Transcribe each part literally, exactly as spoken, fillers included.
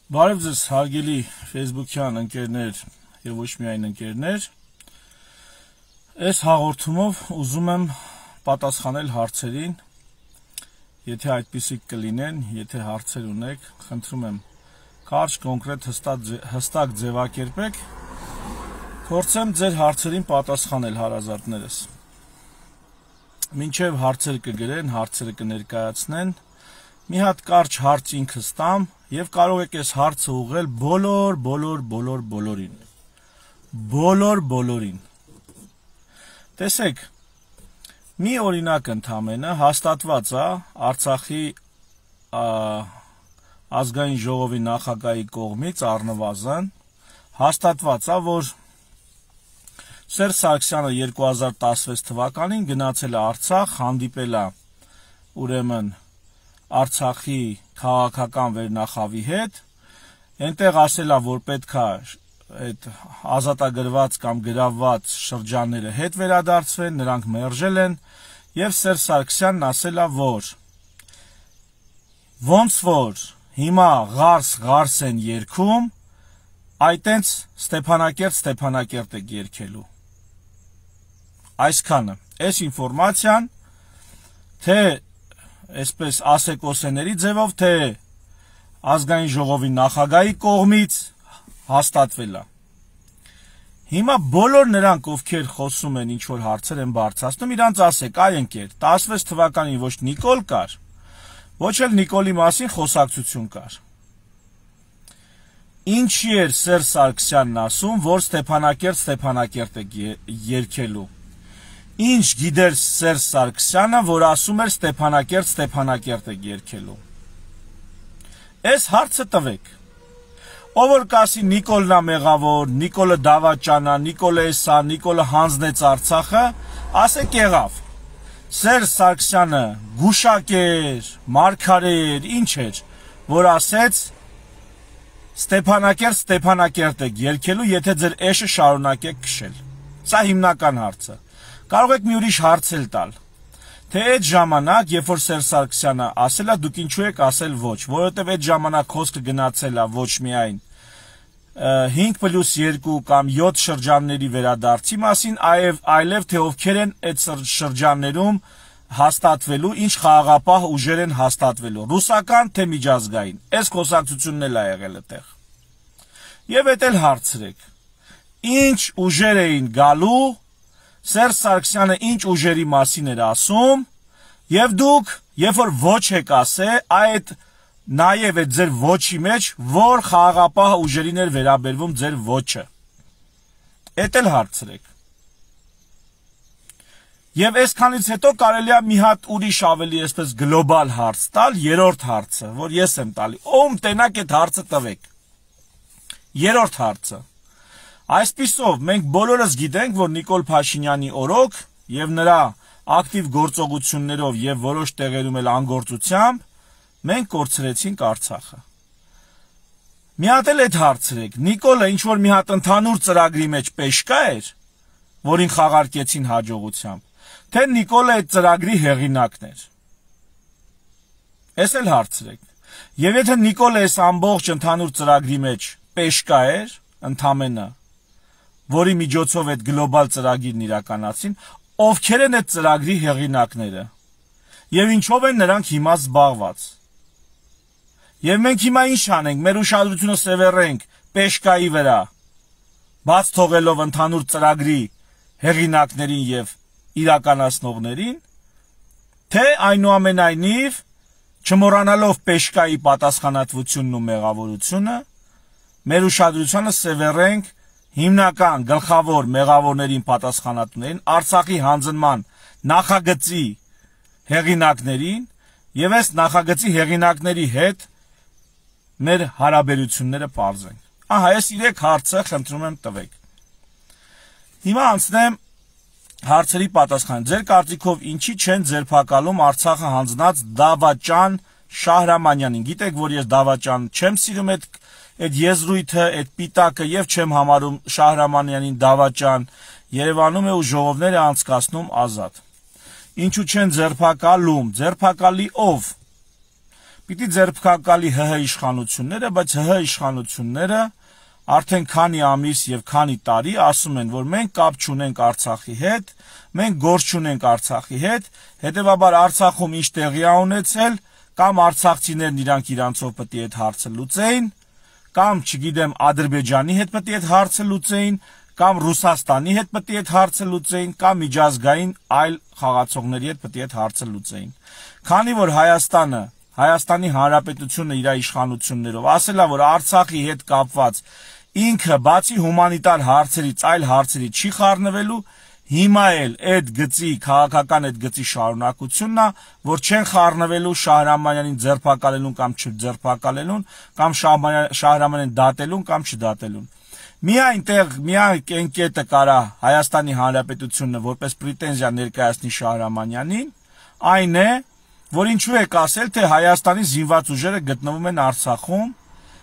Բարև ձեզ հարգելի Facebook-յան ընկերներ եւ ոչ միայն ընկերներ։ Այս հաղորդումով ուզում եմ պատասխանել հարցերին, եթե այդպիսիք կլինեն, եթե հարցեր ունեք, խնդրում եմ կարճ, կոնկրետ, հստակ ձևակերպեք, փորձեմ ձեր հարցերին պատասխանել հարազատներս։ Մինչև հարցեր կգրեն, հարցերը կներկայացնեն, մի հատ կարճ հարց ինքս տամ եւ կարող եք այս հարցը ուղղել բոլոր, բոլոր, բոլոր, բոլորին։ Բոլոր, բոլորին։ Տեսեք, մի օրինակ ընդամենը հաստատված է Արցախի ազգային ժողովի նախագահի կողմից առնվազն հաստատված է, որ Սերժ Սարգսյանը երկու հազար տասնվեց թվականին գնացել է Արցախ, հանդիպել է ուրեմն Արցախի քաղաքական վերնախավի հետ, այնտեղ ասել է, որ պետք է այդ ազատագրված կամ գրավված շրջանները հետ վերադարձվեն, նրանք մերժել են, եւ Սերժ Սարգսյանն ասել է, որ ոնց որ հիմա ղարս ղարս են երգում, այտենց Ստեփանակերտ Ստեփանակերտ եք երգելու։ Այսքանը, այս ինֆորմացիան, թե այսպես ասեկոսեների ձևով, թե ազգային ժողովի նախագահի կողմից հաստատվել է։ Հիմա բոլոր նրանք, ովքեր խոսում են, ինչ որ հարցեր են բարձրացնում, իրանց ասեք, այ ընկեր, տասնվեց թվականին ոչ Նիկոլ կար, ոչ էլ Նիկոլի մասին խոսակցություն կար։ Ինչի էր Սերժ Սարգսյանն ասում, որ Ստեփանակերտ Ստեփանակերտ է երգելու։ Ինչ գիտեր Սերժ Սարգսյանը, որ ասում էր Ստեփանակերտ Ստեփանակերտ է երգելու։ Այս հարցը տվեք։ Ով որ կասի Նիկոլն է մեղավոր, Նիկոլը դավաճան է, Նիկոլը էսա, Նիկոլը հանձնեց Արցախը, ասեք եղավ։ Սերժ Սարգսյանը գուշակ էր, մարգարե էր, ինչ էր, որ ասեց Ստեփանակերտ Ստեփանակերտ եք երգելու, եթե ձեր էշը շարունակեք քշել։ Սա հիմնական հարցը։ Կարող եք մի ուրիշ հարց էլ տալ, թե այդ ժամանակ, երբ որ Սերժ Սարգսյանը ասել է, դուք ինչու եք ասել ոչ, որովհետև այդ ժամանակ խոսքը գնացել է ոչ միայն հինգ պլյուս երկու կամ յոթ շրջանների վերադարձի մասին, այև այլև թե ովքեր են այդ շրջաններում հաստատվելու, ինչ խաղաղապահ ուժեր են հաստատվելու, ռուսական թե միջազգային, այս խոսակցությունն էլ է եղել այդտեղ։ Եվ այդ էլ հարցրեք, ինչ ուժեր էին գալու, Սերժ Սարգսյանը ինչ ուժերի մասին էր ասում, եւ դուք, երբ որ ոչ եք ասե, այդ նաեւ այդ ձեր ոչի մեջ, որ խաղաղապահ ուժերին էր վերաբերվում ձեր ոչը։ Էդ էլ հարցրեք։ Եվ այսքանից հետո կարելի է մի հատ ուրիշ ավելի այսպես գլոբալ հարց տալ, երրորդ հարցը, որ ես եմ տալի։ Ում տենակ այդ հարցը տվեք։ Երրորդ հարցը։ Այսպիսով մենք բոլորս գիտենք, որ Նիկոլ Փաշինյանի օրոք եւ նրա ակտիվ գործողություններով եւ որոշ տեղերում էլ անգործությամբ մենք կորցրեցինք Արցախը։ Մի հատ էլ այդ հարցրեք, Նիկոլը ինչ որ մի հատ ընդհանուր ծրագրի մեջ պեշկա էր, որին խաղարկեցին հաջողությամբ, թե Նիկոլը այդ ծրագրի հեղինակն էր։ Էս էլ հարցրեք։ Եվ եթե Նիկոլը այս ամբողջ ընդհանուր ծրագրի մեջ պեշկա էր, ընդամենը, որի միջոցով այդ գլոբալ ծրագիրն իրականացին, ովքեր են այդ ծրագրի հեղինակները, եւ ինչով են նրանք հիմա զբաղված։ Եվ մենք հիմա ինչ անենք, մեր ուշադրությունը սևեռենք պեշկայի վրա, բաց թողելով ընդհանուր ծրագրի հեղինակներին եւ իրականացնողներին, թե այնուամենայնիվ չմոռանալով պեշկայի պատասխանատվությունն ու մեղավորությունը, մեր ուշադրությունը սևեռենք հիմնական գլխավոր մեղավորներին պատասխանատուներին, Արցախի հանձնման նախագծի հեղինակներին եւ այս նախագծի հեղինակների հետ մեր հարաբերությունները պարզենք։ Ահա, այս երեք հարցը խնդրում եմ տվեք։ Հիմա անցնեմ հարցերի պատասխան։ Ձեր կարծիքով ինչի չեն ձերբակալում Արցախը հանձնած Դավաճան Շահրամանյանին։ Գիտեք, որ ես Դավաճան չեմ սիրում այդ այդ եզրույթը, այդ պիտակը եւ չեմ համարում Շահրամանյանին դավաճան, Երևանում է ու ժողովներ է անցկացնում ազատ։ Ինչու չեն ձերբակալում, ձերբակալի ով։ Պիտի ձերբակալի ՀՀ իշխանությունները, բայց ՀՀ իշխանությունները արդեն քանի ամիս եւ քանի տարի ասում են, որ մենք կապ չունենք Արցախի հետ, մենք գործ չունենք Արցախի հետ, հետեւաբար Արցախում ինչ տեղի է ունեցել, կամ արցախցիներն իրանք իրանցով պետք է այդ հարցը լուծեին, կամ չգիտեմ Ադրբեջանի հետ պետք է այդ հարցը լուծեին, կամ Ռուսաստանի հետ պետք է այդ հարցը լուծեին, կամ միջազգային այլ խաղացողների հետ պետք է այդ հարցը լուծեին։ Քանի որ Հայաստանը, Հայաստանի Հանրապետությունը իր իշխանություններով ասել է, որ Արցախի հետ կապված ինքը բացի հումանիտար հարցերից այլ հարցերի չի խառնվելու, հիմա էլ այդ գծի քաղաքական այդ գծի շարունակությունն է, որ չեն խառնվելու Շահրամանյանին ձերբակալելուն կամ չձերբակալելուն, կամ Շահրամանյանին դատելուն կամ չդատելուն։ Միայն տեղ, միայն այն կետը կարա Հայաստանի Հանրապետությունը որպես պրետենզիա ներկայացնի Շահրամանյանին, այն է, որ ինչու եք ասել, թե Հայաստանի զինված ուժերը գտնվում են Արցախում,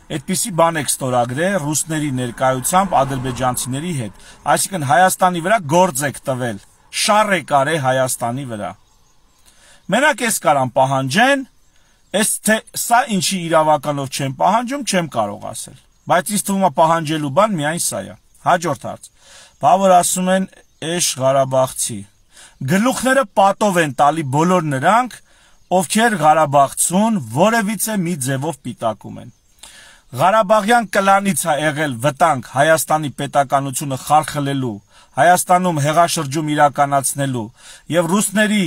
այդպիսի բան եք ստորագրել ռուսների ներկայությամբ ադրբեջանցիների հետ, այսինքն Հայաստանի վրա գործ եք տվել, շառ եք արել Հայաստանի վրա։ Մենակ էս կարան պահանջեն, այս թե սա ինչի իրավականով չեմ պահանջում, չեմ կարող ասել, բայց ինձ թվում է պահանջելու բան միայն սա է։ Հաջորդ հարց, բավար ասում են Էշ Ղարաբաղցի, գլուխները պատով են տալի բոլոր նրանք, ովքեր Ղարաբաղցուն որևիցե մի ձևով պիտակում են։ Ղարաբաղյան կլանից է եղել վտանգ Հայաստանի պետականությունը խարխլելու, Հայաստանում հեղաշրջում իրականացնելու եւ ռուսների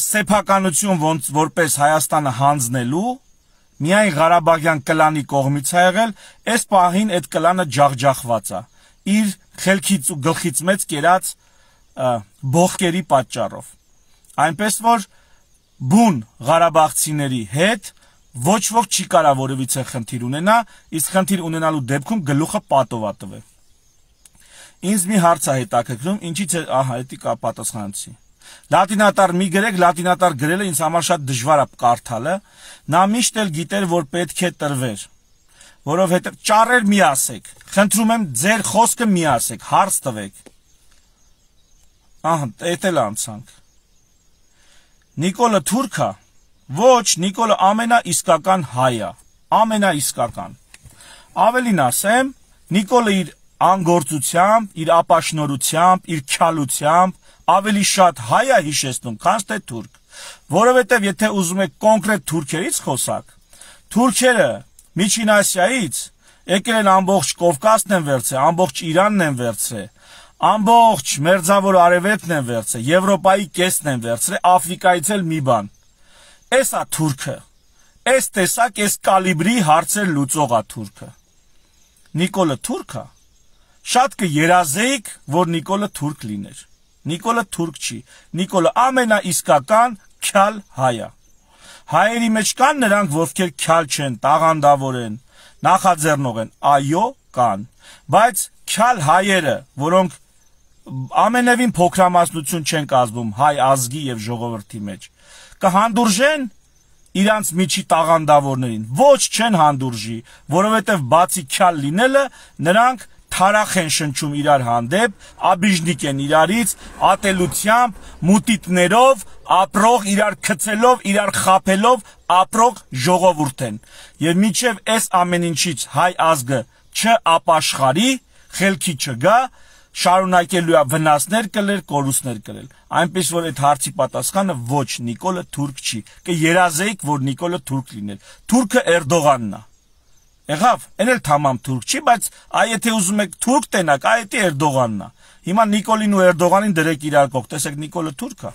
սեփականություն ոնց որպես Հայաստանը հանձնելու, միայն Ղարաբաղյան կլանի կողմից է եղել, այս պահին այդ կլանը ջախջախված է իր խելքից ու գլխից մեծ կերած բողկերի պատճառով։ Այնպես որ բուն Ղարաբաղցիների հետ ոչ ոք չի կարա որևիցե խնդիր ունենա, իսկ խնդիր ունենալու դեպքում գլուխը պատով է տվել։ Ինձ մի հարց է հետաքրքրում, ինչից է, ահա, էդի կա պատասխանեցի։ Լատինատար մի գրեք, լատինատար գրելը ինձ համար շատ դժվար է կարդալը, նա միշտ էլ գիտեր, որ պետք է տրվեր, որովհետև ճառեր մի ասեք, խնդրում եմ ձեր խոսքը մի ասեք, հարց տվեք։ Ահա, էդ էլ անցանք։ Նիկոլը թուրք է։ Ոչ, Նիկոլը ամենաիսկական հայ է, ամենաիսկական։ Ավելին ասեմ, Նիկոլը իր անգործությամբ, իր ապաշնորությամբ, իր քյալությամբ ավելի շատ հայ է հիշեցնում, քան թե թուրք, որովհետև եթե ուզում եք կոնկրետ թուրքերից խոսակ, թուրքերը Միջին Ասիայից եկել են ամբողջ Կովկասն են վերցրել, ամբողջ Իրանն են վերցրել, ամբողջ Մերձավոր Արևելքն են վերցրել, Եվրոպայի կեսն են վերցրել, Աֆրիկայից էլ մի բան։ Էս է թուրքը, էս տեսակ, էս կալիբրի հարցեր լուծող է թուրքը։ Նիկոլը թուրք է, շատ կերազեիք, որ Նիկոլը թուրք լիներ։ Նիկոլը թուրք չի, Նիկոլը ամենաիսկական քյալ հայ է։ Հայերի մեջ կան նրանք, ովքեր քյալ չեն, տաղանդավոր են, նախաձեռնող են, այո, կան, բայց քյալ հայերը, որոնք ամենևին փոքրամասնություն չեն կազմում հայ ազգի եւ ժողովրդի մեջ, կհանդուրժեն իրանց միջի տաղանդավորներին, ոչ չեն հանդուրժի, որովհետև բացի քյալ լինելը նրանք թարախ են շնչում իրար հանդեպ, աբիժնիկ են իրարից, ատելությամբ, մուտիտներով, ապրող, իրար քցելով, իրար խափելով, ապրող ժողովուրդ են։ Եվ մինչև այս ամեն ինչից հայ ազգը չապաշխարի, խելքի չգա, շարունակելու է վնասներ կլեր, կորուստներ կլել։ Այնպես որ այդ հարցի պատասխանը ոչ, Նիկոլը թուրք չի։ Կերազեիք, որ Նիկոլը թուրք լիներ։ Թուրքը Էրդողանն է։ Եղավ, այն էլ թամամ թուրք չի, բայց այ եթե ուզում եք թուրք տենակ, այ դա Էրդողանն է։ Հիմա Նիկոլին ու Էրդողանին դրեք իրար կողք, տեսեք Նիկոլը թուրք է։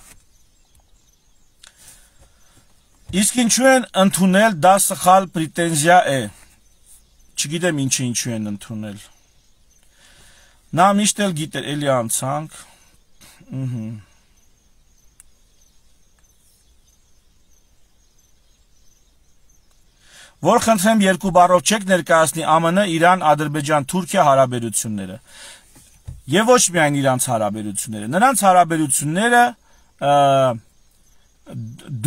Իսկ ինչու են ընդունել, դա սխալ պրետենզիա է։ Չգիտեմ ինչի ինչու են ընդունել։ Նա միշտ էլ գիտեր, էլի անցանք։ Ըհը։ Որ խնդրեմ երկու բառով չեք ներկայացնի ԱՄՆ, Իրան, Ադրբեջան, Թուրքիա հարաբերությունները։ Եվ ոչ միայն իրանց հարաբերությունները, նրանց հարաբերությունները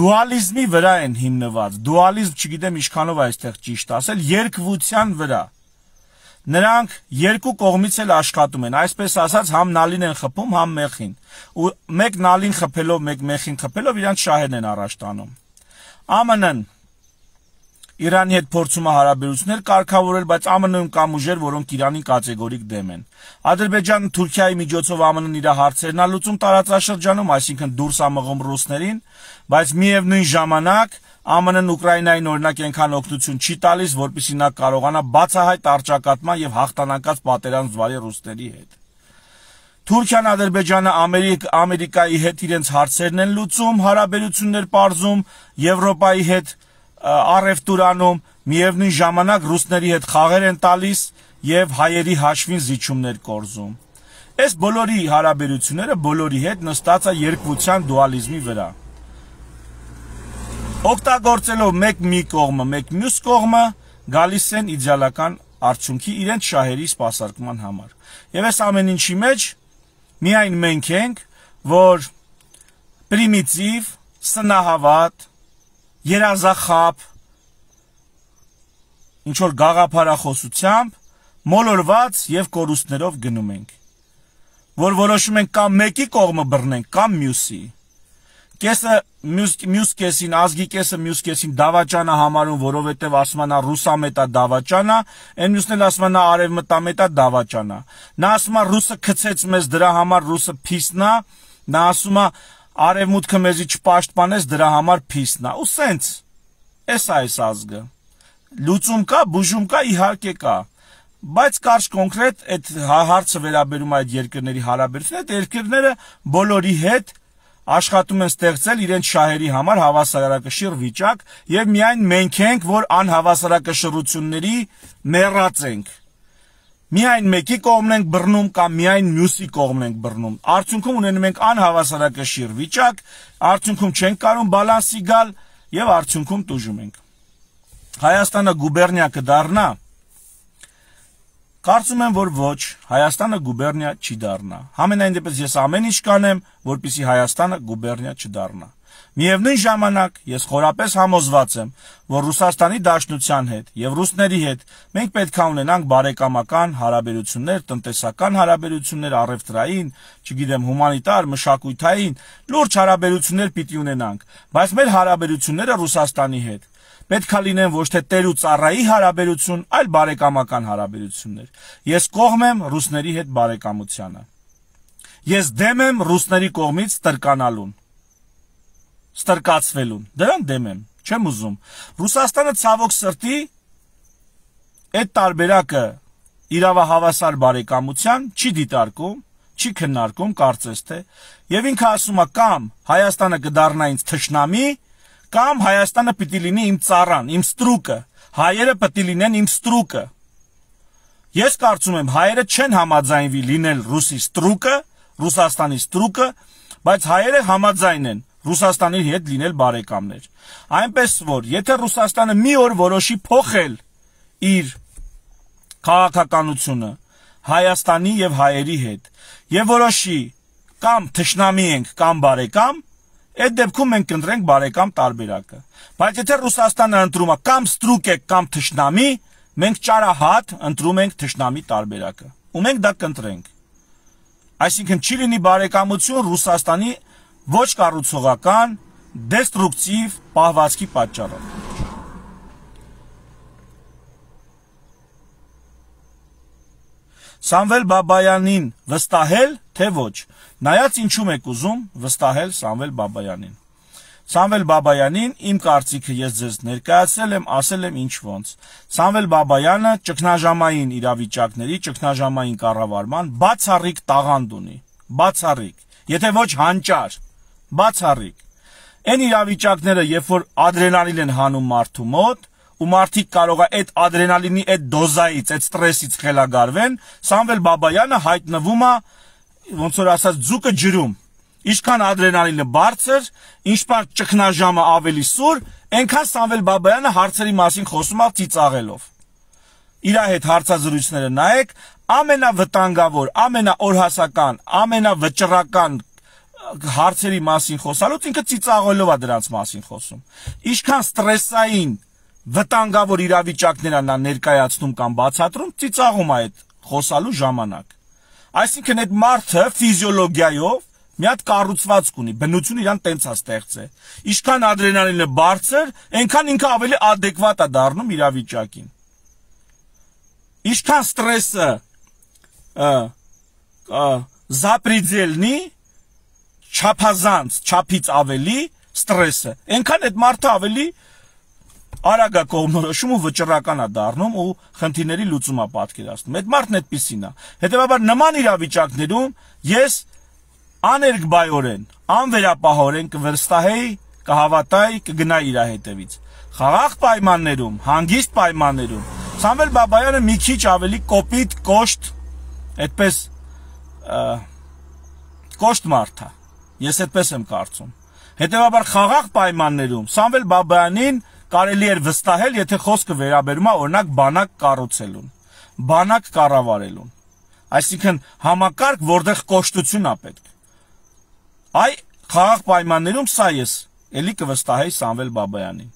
դուալիզմի վրա են հիմնված։ Դուալիզմ, չգիտեմ ինչքանով այստեղ ճիշտ ասել, երկվության վրա։ Նրանք երկու կողմից էլ աշխատում են, այսպես ասած, համ նալին են խփում, համ մեխին։ Ու մեկ նալին խփելով, մեկ մեխին խփելով իրանց շահերն են առաջ տանում։ ԱՄՆ-ն Իրանի հետ փորձում է հարաբերություններ կարգավորել, բայց ԱՄՆ-ում կան ուժեր, որոնք Իրանին կատեգորիկ դեմ են։ Ադրբեջանը Թուրքիայի միջոցով ԱՄՆ-ն իր հարցերն է լուծում տարածաշրջանում, այսինքն դուրս է մղում ռուսներին, բայց միևնույն ժամանակ ԱՄՆ-ն Ուկրաինային օրինակ այնքան օգնություն չի տալիս, որպեսզի նա կարողանա բացահայտ առճակատման եւ հաղթանակած պատերազմ զվարի ռուսների հետ։ Թուրքիան, Ադրբեջանը, Ամերիկ, Ամերիկայի հետ իրենց հարցերն են լուծում, հարաբերություններ պարզում, Եվրոպայի հետ առևտուր անում, միևնույն ժամանակ ռուսների հետ խաղեր են տալիս եւ հայերի հաշվին զիջումներ կորզում։ Այս բոլորի հարաբերությունները բոլորի հետ նստած է երկվության դուալիզմի վրա։ Օգտագործելով մեկ մի կողմը, մեկ մյուս կողմը գալիս են իդեալական արդյունքի իրենց շահերի սպասարկման համար։ Եվ այս ամեն ինչի մեջ միայն մենք ենք, որ պրիմիտիվ, սնահավատ, երազախապ, ինչ-որ գաղափարախոսությամբ, մոլորված և կորուստներով գնում ենք, որ որոշում ենք կամ մեկի կողմը բռնենք, կամ մյուսի, կեսը մյուս կեսին, ազգի կեսը մյուս կեսին դավաճան է համարում, որովհետև ասում է նա ռուսամետ է դավաճան է, այն մյուսն էլ ասում է նա արևմտամետ է դավաճան է, նա ասում է ռուսը գցեց մեզ դրա համար ռուսը փիսն է, նա ասում է արևմուտքը մեզի չպաշտպանեց դրա համար փիսն է, ու սենց, էս է այս ազգը, լուծում կա, բուժում կա, իհարկե կա, բայց կարճ կոնկրետ այդ հարցը վերաբերում այդ երկրների հարաբերությունները, այդ երկրները բոլորի հետ աշխատում են ստեղծել իրենց շահերի համար հավասարակշիռ վիճակ եւ միայն մենք ենք, որ անհավասարակշռությունների մեռած ենք։ Միայն մեկի կողմն ենք բռնում կամ միայն մյուսի կողմն ենք բռնում։ Արդյունքում ունենում ենք անհավասարակշիռ վիճակ, արդյունքում չենք կարող բալանսի գալ եւ արդյունքում տուժում ենք։ Հայաստանը գուբերնիա կդառնա։ Կարծում եմ, որ ոչ, Հայաստանը գուբերնիա չի դառնա։ Համենայն դեպս ես ամեն ինչ կանեմ, որպեսզի Հայաստանը գուբերնիա չդառնա։ Միևնույն ժամանակ ես խորապես համոզված եմ, որ Ռուսաստանի Դաշնության հետ եւ ռուսների հետ մենք պետք է ունենանք բարեկամական հարաբերություններ, տնտեսական հարաբերություններ, առևտրային, չգիտեմ, հումանիտար, մշակութային, լուրջ հարաբերություններ պիտի ունենանք, բայց մեր հարաբերությունները Ռուսաստանի հետ պետք է լինեն ոչ թե տեր ու ծառայի հարաբերություն, այլ բարեկամական հարաբերություններ։ Ես կողմ եմ ռուսների հետ բարեկամությանը։ Ես դեմ եմ ռուսների կողմից ստրկանալուն, ստրկացվելուն, դրան դեմ եմ, չեմ ուզում։ Ռուսաստանը ցավոք սրտի այդ տարբերակը իրավահավասար բարեկամության չի դիտարկում, չի քննարկում, կարծես թե, եւ ինքը ասում է կամ Հայաստանը կդառնա ինձ թշնամի, կամ Հայաստանը պիտի լինի իմ ծառան, իմ ստրուկը, հայերը պիտի լինեն իմ ստրուկը։ Ես կարծում եմ հայերը չեն համաձայնվի լինել ռուսի ստրուկը, Ռուսաստանի ստրուկը, բայց հայերը համաձայն են Ռուսաստանի հետ լինել բարեկամներ։ Այնպես որ, եթե Ռուսաստանը մի օր որոշի փոխել իր քաղաքականությունը Հայաստանի եւ հայերի հետ եւ որոշի կամ թշնամի ենք կամ բարեկամ, այդ դեպքում մենք կընտրենք բարեկամ տարբերակը։ Բայց եթե Ռուսաստանը ընտրում է կամ ստրուկ է կամ թշնամի, մենք ճարահատ ընտրում ենք թշնամի տարբերակը։ Ու մենք դա կընտրենք։ Այսինքն չի լինի բարեկամություն Ռուսաստանի ոչ կառուցողական, դեստրուկտիվ պահվածքի պատճառով։ Սամվել Բաբայանին վստահել, թե ոչ։ Նայած ինչու եք ուզում վստահել Սամվել Բաբայանին։ Սամվել Բաբայանին իմ կարծիքը ես ձեզ ներկայացրել եմ, ասել եմ ինչ ոնց։ Սամվել Բաբայանը ճգնաժամային իրավիճակների, ճգնաժամային կառավարման բացառիկ տաղանդ ունի, բացառիկ, եթե ոչ հանճար, բացառիկ։ Այն իրավիճակները, երբ որ ադրենալին են հանում մարդու մոտ, ու մարդիկ կարող է այդ ադրենալինի այդ դոզայից, այդ ստրեսից խելագարվեն, Սամվել Բաբայանը հայտնվում է, ոնց որ ասած, ձուկը ջրում։ Ինչքան ադրենալինը բարձր, ինչքան ճգնաժամը ավելի սուր, այնքան Սամվել Բաբայանը հարցերի մասին խոսում է ծիծաղելով։ Իր հետ հարցազրույցները նայեք, ամենավտանգավոր, ամենաօրհասական, ամենավճռական հարցերի մասին խոսալուց ինքը ծիծաղելով է դրանց մասին խոսում։ Ինչքան ստրեսային, վտանգավոր իրավիճակներ նա ներկայացնում կամ բացատրում, ծիծաղում է այդ խոսալու ժամանակ։ Այսինքն այդ մարդը ֆիզիոլոգիայով մի հատ կառուցվածք ունի, բնություն իրան տենց է ստեղծել։ Ինչքան ադրենալինը բարձր, այնքան ինքը ավելի adekvat է դառնում իրավիճակին։ Ինչքան ստրեսը զապրիդելնի, չափազանց, չափից ավելի ստրեսը, այնքան այդ մարդը ավելի արագ է կողմնորոշում ու վճռական է դառնում ու խնդիրների լուծում է պատկերացնում։ Այդ մարդն այդպիսին է։ Հետևաբար նման իրավիճակներում ես աներկբայորեն, անվերապահորեն կվստահեի, կհավատայի, կգնայի իր հետևից։ Խաղաղ պայմաններում, հանգիստ պայմաններում Սամվել Բաբայանը մի քիչ ավելի կոպիտ, կոշտ, այդպես կոշտ մարդ է։ Ես այդպես եմ կարծում։ Հետևաբար խաղաղ պայմաններում Սամվել Բաբայանին կարելի էր վստահել, եթե խոսքը վերաբերում է օրինակ բանակ կառուցելուն, բանակ կառավարելուն։ Այսինքն համակարգ, որտեղ կոշտություն է պետք։ Այ խաղաղ պայմաններում սա ես էլի կվստահեի Սամվել Բաբայանին։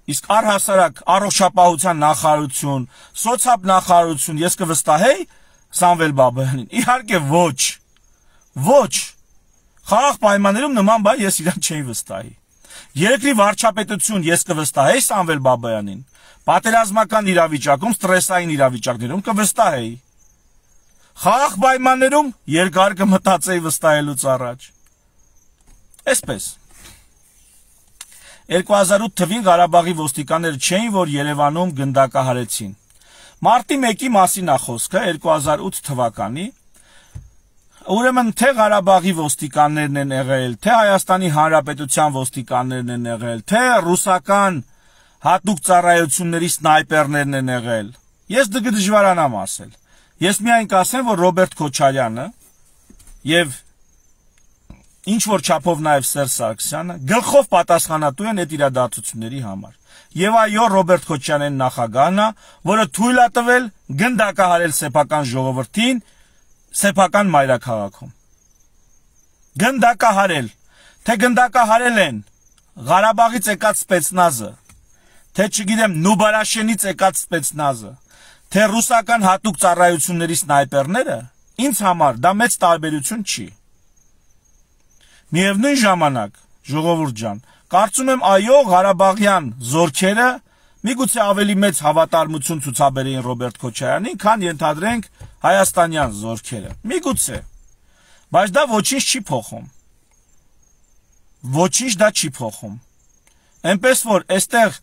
Իսկ առհասարակ առողջապահության նախարարություն, սոցիալ նախարարություն ես կվստահեի Սամվել Բաբայանին։ Իհարկե ոչ։ Ոչ։ Խաղաղ պայմաններում նման բան ես իրան չէի վստահի։ Երկրի վարչապետություն ես կվստահեի Սամվել Բաբայանին։ Պատերազմական իրավիճակում, ստրեսային իրավիճակներում կվստահեի։ Խաղաղ պայմաններում երկար կմտածեի վստահելուց առաջ։ Այսպես։ երկու հազար ութ թվին Ղարաբաղի ոստիկանները չէին, որ Երևանում գնդակահարեցին։ Մարտի մեկի մասին է խոսքը, երկու հազար ութ թվականի։ Ուրեմն թե Ղարաբաղի ոստիկաններն են եղել, թե Հայաստանի Հանրապետության ոստիկաններն են եղել, թե ռուսական հատուկ ծառայությունների սնայպերներն են եղել։ Ես դժվարանամ ասել։ Ես միայն կասեմ, որ Ռոբերտ Քոչարյանը եւ ինչ որ չափով նաեւ Սերժ Սարգսյանը գլխով պատասխանատու են այդ իրադարձությունների համար։ Եվ այո, Ռոբերտ Քոչարյանն նախագահն է, որը թույլ է տվել գնդակահարել սեփական ժողովրդին սեփական մայրաքաղաքում։ Գնդակահարել, թե գնդակահարել են Ղարաբաղից եկած սպեցնազը, թե չգիտեմ Նուբարաշենից եկած սպեցնազը, թե ռուսական հատուկ ծառայությունների սնայպերները, ինձ համար դա մեծ տարբերություն չի։ Միևնույն ժամանակ, ժողովուրդ ջան, կարծում եմ այո, Ղարաբաղյան զորքերը միգուցե ավելի մեծ հավատարմություն ցուցաբերեին Ռոբերտ Քոչարյանին, քան ենթադրենք հայաստանյան զորքերը։ Միգուցե, բայց դա ոչինչ չի փոխում։ Ոչինչ դա չի փոխում։ Այնպես որ այստեղ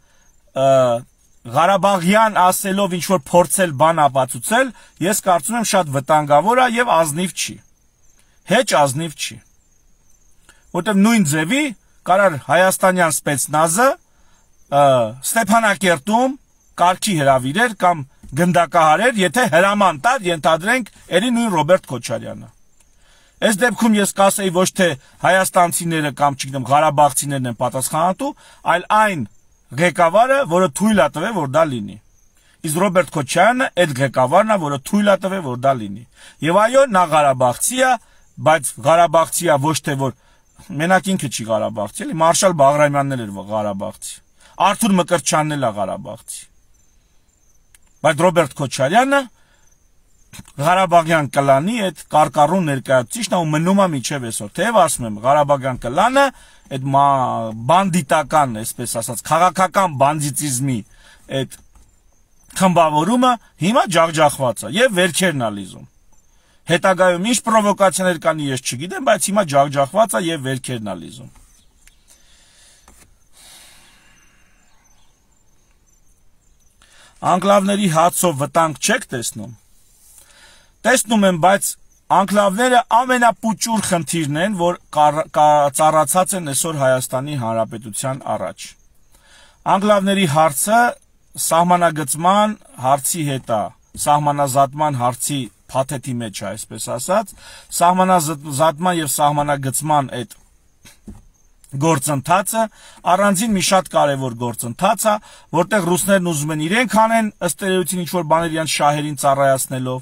Ղարաբաղյան ասելով ինչ որ փորձել բան ապացուցել, ես կարծում եմ շատ վտանգավոր է եւ ազնիվ չի։ Հեչ ազնիվ չի։ Որտեղ նույն ձևի կարար հայաստանյան սպեցնազը Ստեփանակերտում կարգի հրավիրեր կամ գնդակահարեր, եթե հրաման տար ենթադրենք երի նույն Ռոբերտ Քոչարյանը։ Այս դեպքում ես կասեի ոչ թե հայաստանցիները կամ չգիտեմ ղարաբաղցիներն են պատասխանատու, այլ այն ղեկավարը, որը թույլ է տվել, որ դա լինի։ Իսկ Ռոբերտ Քոչարյանը այդ ղեկավարն է, որը թույլ է տվել, որ դա լինի։ Եվ այո, նա ղարաբաղցի է, բայց ղարաբաղցի է ոչ թե որ մենակ ինքը չի ղարաբաղցի, էլի Մարշալ Բաղրամյանն էլ էր ղարաբաղցի։ Արթուր Մկրտչյանն էլ է ղարաբաղցի։ Բայց Ռոբերտ Քոչարյանը Ղարաբաղյան կլանի այդ կարկառուն ներկայացուցիչն ու մնում է միջև այսօր։ Թեև ասում եմ, Ղարաբաղյան կլանը այդ բանդիտական, այսպես ասած, քաղաքական բանդիտիզմի այդ խմբավորումը հիմա ջախջախված է եւ վերքերն է լիզում։ Հետագայում ինչ պրովոկացիաներ կանի ես չգիտեմ, բայց հիմա ջախջախված է եւ վերքերն է լիզում։ Անկլավների հացով վտանգ չեք տեսնում։ Տեսնում եմ, բայց անկլավները ամենապուճուր խնդիրն են, որ ծառացած են այսօր Հայաստանի Հանրապետության առաջ։ Անկլավների հարցը սահմանագծման հարցի հետ է, սահմանազատման հարցի փաթեթի մեջ է, այսպես ասած, սահմանազատման եւ սահմանագծման այդ գործընթացը առանձին մի շատ կարևոր գործընթաց է, որտեղ ռուսներն ուզում են իրենք անեն, ըստ էության ինչ որ բաներ իրանց շահերին ծառայացնելով,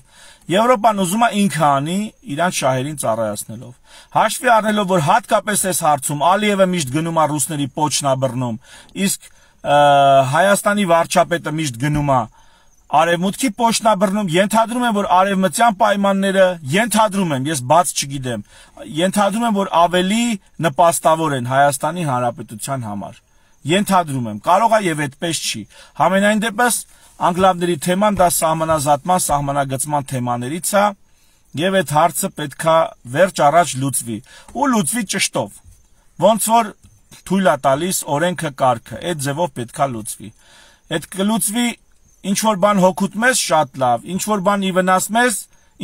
Եվրոպան ուզում է ինքը անի իրանց շահերին ծառայացնելով։ Հաշվի առնելով, որ հատկապես այս հարցում Ալիևը միշտ գնում է ռուսների պոչն աբռնում, իսկ Հայաստանի վարչապետը միշտ գնում է Արևմուտքի պոշտնաբռնում, ենթադրում եմ, որ արևմտյան պայմանները, ենթադրում եմ, ես բաց չգիտեմ, ենթադրում եմ, որ ավելի նպաստավոր են Հայաստանի Հանրապետության համար։ Ենթադրում եմ, կարող է եւ այդպես չի։ Համենայն դեպս անգլավների թեման դա սահմանազատման, սահմանագծման թեմաներից է, եւ այդ հարցը պետքա վերջ առաջ լուծվի, ու լուծվի ճշտով։ Ոնց որ թույլ է տալիս օրենքը, կարգը, այդ ձևով պետքա լուծվի։ Այդ կլուծվի ինչ որ բան հոգուտ մեզ շատ լավ, ինչ որ բան ի վնաս մեզ,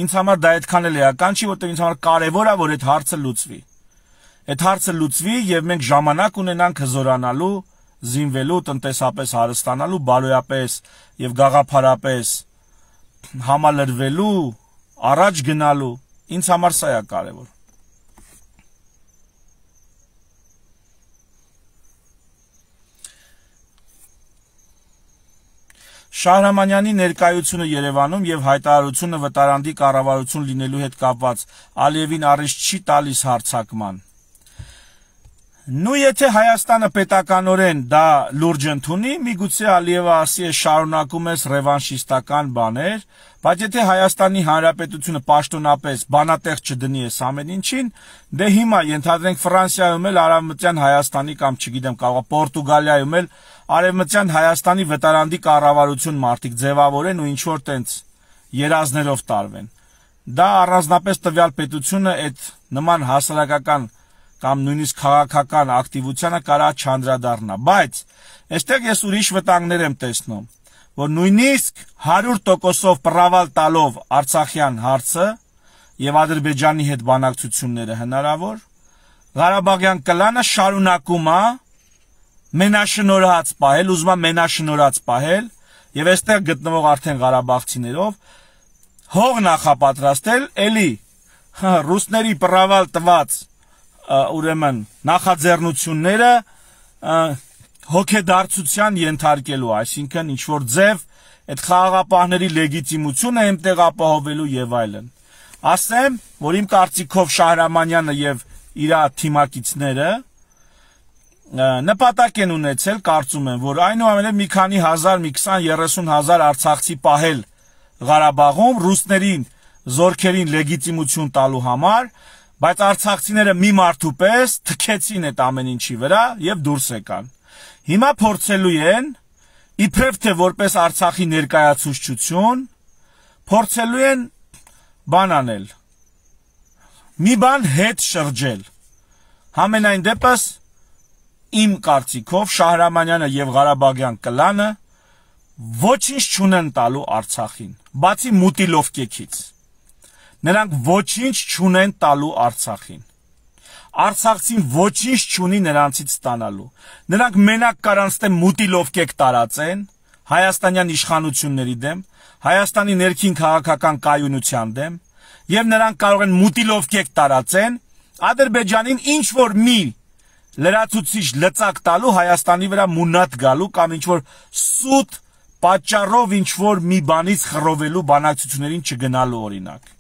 ինձ համար դա այդքան էլ էական չի, որտեղ ինձ համար կարևոր է, որ այդ հարցը լուծվի։ Այդ հարցը լուծվի եւ մենք ժամանակ ունենանք հզորանալու, զինվելու, տնտեսապես հարստանալու, բարոյապես եւ գաղափարապես համալրվելու, առաջ գնալու, ինձ համար սա է կարևոր։ Շահրամանյանի ներկայությունը Երևանում եւ հայտարարությունը վտարանդի կառավարություն լինելու հետ կապված Ալիևին առիթ չի տալիս հարձակման։ Նու եթե Հայաստանը պետականորեն դա լուրջ ընդունի, միգուցե Ալիևը ասի է շարունակում ես ռևանշիստական բաներ, բայց եթե Հայաստանի Հանրապետությունը պաշտոնապես բանատեղ չդնի այս ամեն ինչին, դե հիմա ենթադրենք Ֆրանսիայում էլ Արևմտյան Հայաստանի կամ չգիտեմ, կարող է Պորտուգալիայում էլ Արևմտյան Հայաստանի վտարանդի կառավարություն մարդիկ ձևավորեն ու ինչ որ տենց երազներով տարվեն։ Դա առանձնապես տվյալ պետությունը այդ նման հասարակական կամ նույնիսկ քաղաքական ակտիվությանը կարա չանդրադառնա, բայց այստեղ ես ուրիշ վտանգներ եմ տեսնում, որ նույնիսկ հարյուր տոկոսով պրավալ տալով Արցախյան հարցը եւ Ադրբեջանի հետ բանակցությունները հնարավոր, Ղարաբաղյան կլանը շարունակում է մենաշնորհած պահել, ուզում է մենաշնորհած պահել եւ այստեղ գտնվող արդեն ղարաբաղցիներով հող նախապատրաստել, էլի ռուսների պրավալ տված ուրեմն նախաձեռնությունները հոգեդարձության ենթարկելու, այսինքն ինչ որ ձև այդ խաղաղապահների լեգիտիմությունը այնտեղ ապահովելու եւ այլն։ Ասեմ, որ իմ կարծիքով Շահրամանյանը եւ իր թիմակիցները նպատակ են ունեցել, կարծում եմ, որ այնուամենայնիվ մի քանի հազար, մի քսան երեսուն հազար արցախցի պահել Ղարաբաղում ռուսներին զորքերին լեգիտիմություն տալու համար, բայց արցախցիները մի մարդու պես թքեցին այդ ամեն ինչի վրա եւ դուրս եկան։ Հիմա փորձելու են իբրև թե որպես Արցախի ներկայացուցչություն փորձելու են բան անել։ Մի բան հետ շրջել։ Համենայն դեպս իմ կարծիքով Շահրամանյանը եւ Ղարաբաղյան կլանը ոչինչ չունեն տալու Արցախին, բացի մուտիլովկեքից։ Նրանք ոչինչ չունեն տալու Արցախին։ Արցախցին ոչինչ չունի նրանցից ստանալու։ Նրանք մենակ կարանց դեմ մուտիլովկեք տարածեն հայաստանյան իշխանությունների դեմ, Հայաստանի ներքին քաղաքական կայունության դեմ, եւ նրանք կարող են մուտիլովկեք տարածեն Ադրբեջանին ինչ որ մի լրացուցիչ լծակ տալու, Հայաստանի վրա մունատ գալու կամ ինչ որ սուտ պատճառով ինչ որ մի բանից խռովելու բանակցություններին չգնալու օրինակ։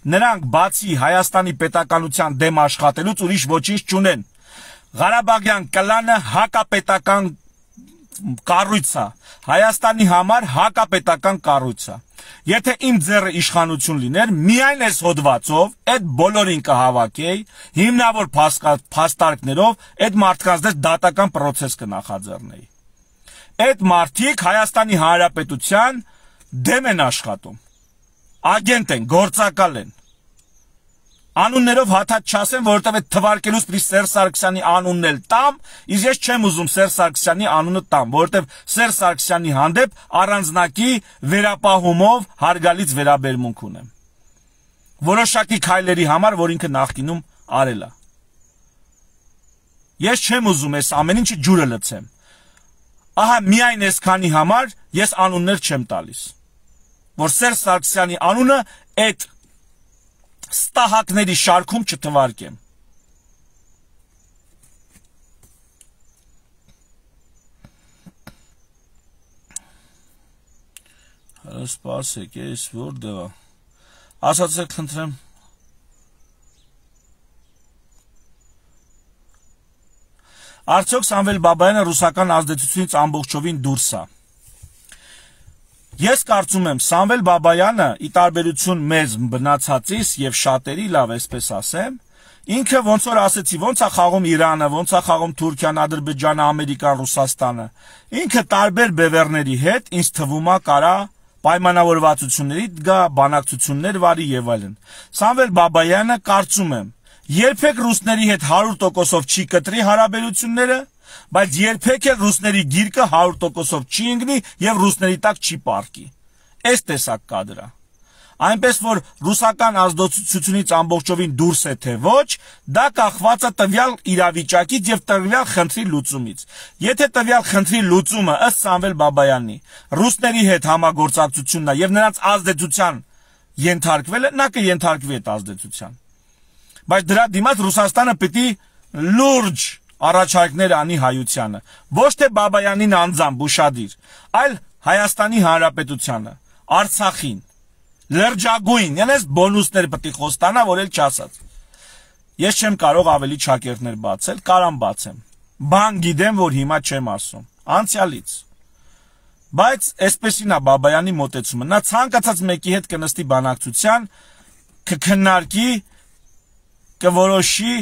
Նրանք բացի Հայաստանի պետականության դեմ աշխատելուց ուրիշ ոչինչ չունեն։ Ղարաբաղյան կլանը հակապետական կառույց է, Հայաստանի համար հակապետական կառույց է։ Եթե իմ ձեռը իշխանություն լիներ, միայն այս հոդվածով այդ բոլորին կհավաքեի, հիմնավոր փաստարկներով այդ մարդկանց դեմ դատական process կնախաձեռնեի։ Այդ մարդիկ Հայաստանի Հանրապետության դեմ են աշխատում։ Ագենտ են, գործակալ են։ Անուններով հաթաթ չասեմ, որովհետև այդ թվարկելուց պիտի Սերժ Սարգսյանի անունն էլ տամ, իսկ ես չեմ ուզում Սերժ Սարգսյանի անունը տամ, որովհետև Սերժ Սարգսյանի հանդեպ առանձնակի վերապահումով հարգալից վերաբերմունք ունեմ։ Որոշակի քայլերի համար, որ ինքը նախկինում արել է։ Ես չեմ ուզում այս ամեն ինչը ջուրը լցեմ։ Ահա միայն այսքանի համար ես անուններ չեմ տալիս, որ Սերժ Սարգսյանի անունը այդ ստահակների շարքում չթվարկեմ։ Սպասեք, ես որտեղ է։ Ասացեք, խնդրեմ։ Արդյոք Սամվել Բաբայանը ռուսական ազդեցությունից ամբողջովին դուրս է։ Ես կարծում եմ Սամվել Բաբայանը ի տարբերություն մեզ բնացածից եւ շատերի, լավ այսպես ասեմ, ինքը ոնց որ ասեցի, ոնց է խաղում Իրանը, ոնց է խաղում Թուրքիան, Ադրբեջանը, Ամերիկան, Ռուսաստանը, ինքը տարբեր բևեռների հետ ինձ թվում է կարա պայմանավորվածությունների գա, բանակցություններ վարի եւ այլն։ Սամվել Բաբայանը կարծում եմ երբեք ռուսների հետ հարյուր տոկոսով չի կտրի հարաբերությունները, բայց երբեք էլ ռուսների գիրկը հարյուր տոկոսով չի ընկնի եւ ռուսների տակ չի պարկի։ Այս տեսակ կադրը։ Այնպես որ ռուսական ազդեցությունից ամբողջովին դուրս է թե ոչ, դա կախված է տվյալ իրավիճակից եւ տվյալ խնդրի լուծումից։ Եթե տվյալ խնդրի լուծումը ըստ Սամվել Բաբայանի ռուսների հետ համագործակցությունն է եւ նրանց ազդեցության ենթարկվելը, նա կենթարկվի այդ ազդեցության։ Բայց դրա դիմաց Ռուսաստանը պիտի լուրջ առաջարկներ անի հայությանը, ոչ թե Բաբայանին անձամբ ուշադիր, այլ Հայաստանի Հանրապետությանը, Արցախին, լրջագույն, ենես բոնուսներ պետք է խոստանա, որ էլ չասած։ Ես չեմ կարող ավելի ճակերտներ բացել, կարամ բացեմ։ Բան գիտեմ, որ հիմա չեմ ասում, անցյալից։ Բայց այսպեսին է Բաբայանի մոտեցումը, նա ցանկացած մեկի հետ կնստի բանակցության, կքննարկի, կորոշի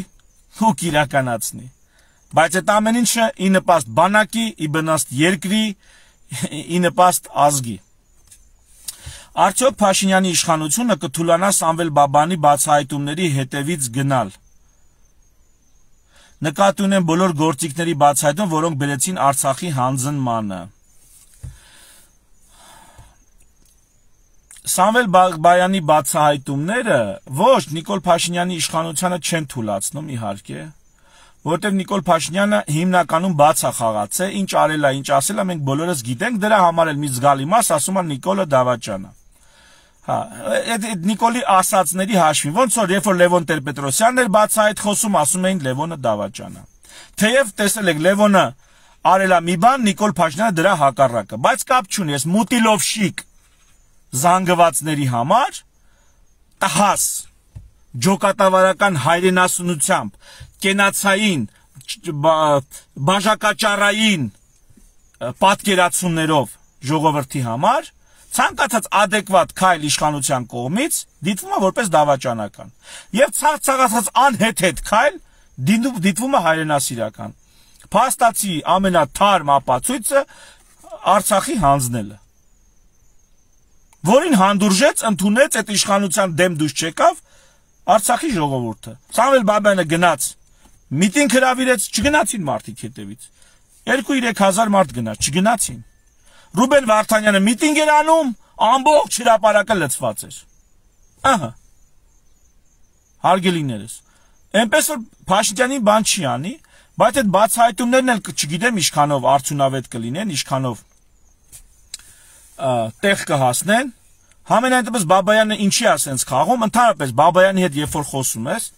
ու կիրականացնի։ Բայց այդ ամեն ինչը ի նպաստ բանակի, ի վնաստ երկրի, ի նպաստ ազգի։ Արդյոք Փաշինյանի իշխանությունը կթուլանա Սամվել Բաբայանի բացահայտումների հետևից գնալ։ Նկատի ունեմ բոլոր գործիքների բացահայտում, որոնք բերեցին Արցախի հանձնմանը։ Սամվել Բաբայանի բացահայտումները ոչ Նիկոլ Փաշինյանի իշխանությանը չեն թուլացնում, իհարկե, որտեղ Նիկոլ Փաշինյանը հիմնականում բաց է խաղացել, ինչ արել է, ինչ ասել է, մենք բոլորս գիտենք, դրա համար էլ մի զգալի մաս ասում է Նիկոլը Դավաճանը։ Հա, այդ Նիկոլի ասածների հաշվին, ոնց որ երբ որ Լևոն Տեր-Պետրոսյանն էր բացահայտ խոսում, ասում էին Լևոնը Դավաճանը։ Թեև տեսել եք Լևոնը արել է մի բան, Նիկոլ Փաշինյանը դրա հակառակը, բայց կապ չունի, ես մուտիլովշիկ զանգվածների համար տհաս ջոկատավարական հայրենասունությամբ կենացային բաժակաճարային պատկերացումներով ժողովրդի համար ցանկացած adekvat քայլ իշխանության կողմից դիտվում է որպես դավաճանական եւ ցանկացած անհեթեթ քայլ դիտվում է հայրենասիրական։ Փաստացի ամենաթարմ ապացույցը Արցախի հանձնելը, որին հանդուրժեց, ընդունեց այդ իշխանության դեմ դուշ չեկավ Արցախի ժողովուրդը։ Սամվել Բաբայանը գնաց, միտինգ հրավիրեց, չգնացին մարդիկ հետևից։ երկու-երեք հազար մարդ գնաց, չգնացին։ Ռուբեն Վարդանյանը միտինգ էր անում, ամբողջ հրապարակը լցված էր։ Ահա։ Հարգելիներս, այնպես որ Փաշինյանի բան չի անի, բայց այդ բացահայտումներն էլ չգիտեմ ինչքանով արդյունավետ կլինեն, ինչքանով տեղ կհասնեն։ Համենայն դեպս Բաբայանը ինչի է սենց խաղում, ընդհանրապես Բաբայանի հետ երբ որ խոսում ես,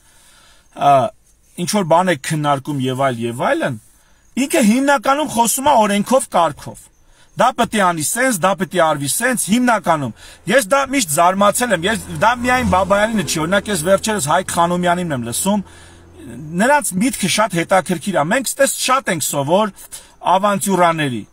ինչ որ բան է քննարկում եւ այլ եւ այլն, ինքը հիմնականում խոսում է օրենքով, կարգով։ Դա պետք է անի սենց, դա պետք է արվի սենց, հիմնականում։ Ես դա միշտ զարմացել եմ, ես դա միայն Բաբայանինը չի, օրինակ ես վերջերս Հայկ Խանոմյանին եմ լսում, նրանց միտքը շատ հետաքրքիր է։ Մենք ստես շատ ենք սովոր ավանտյուրաների։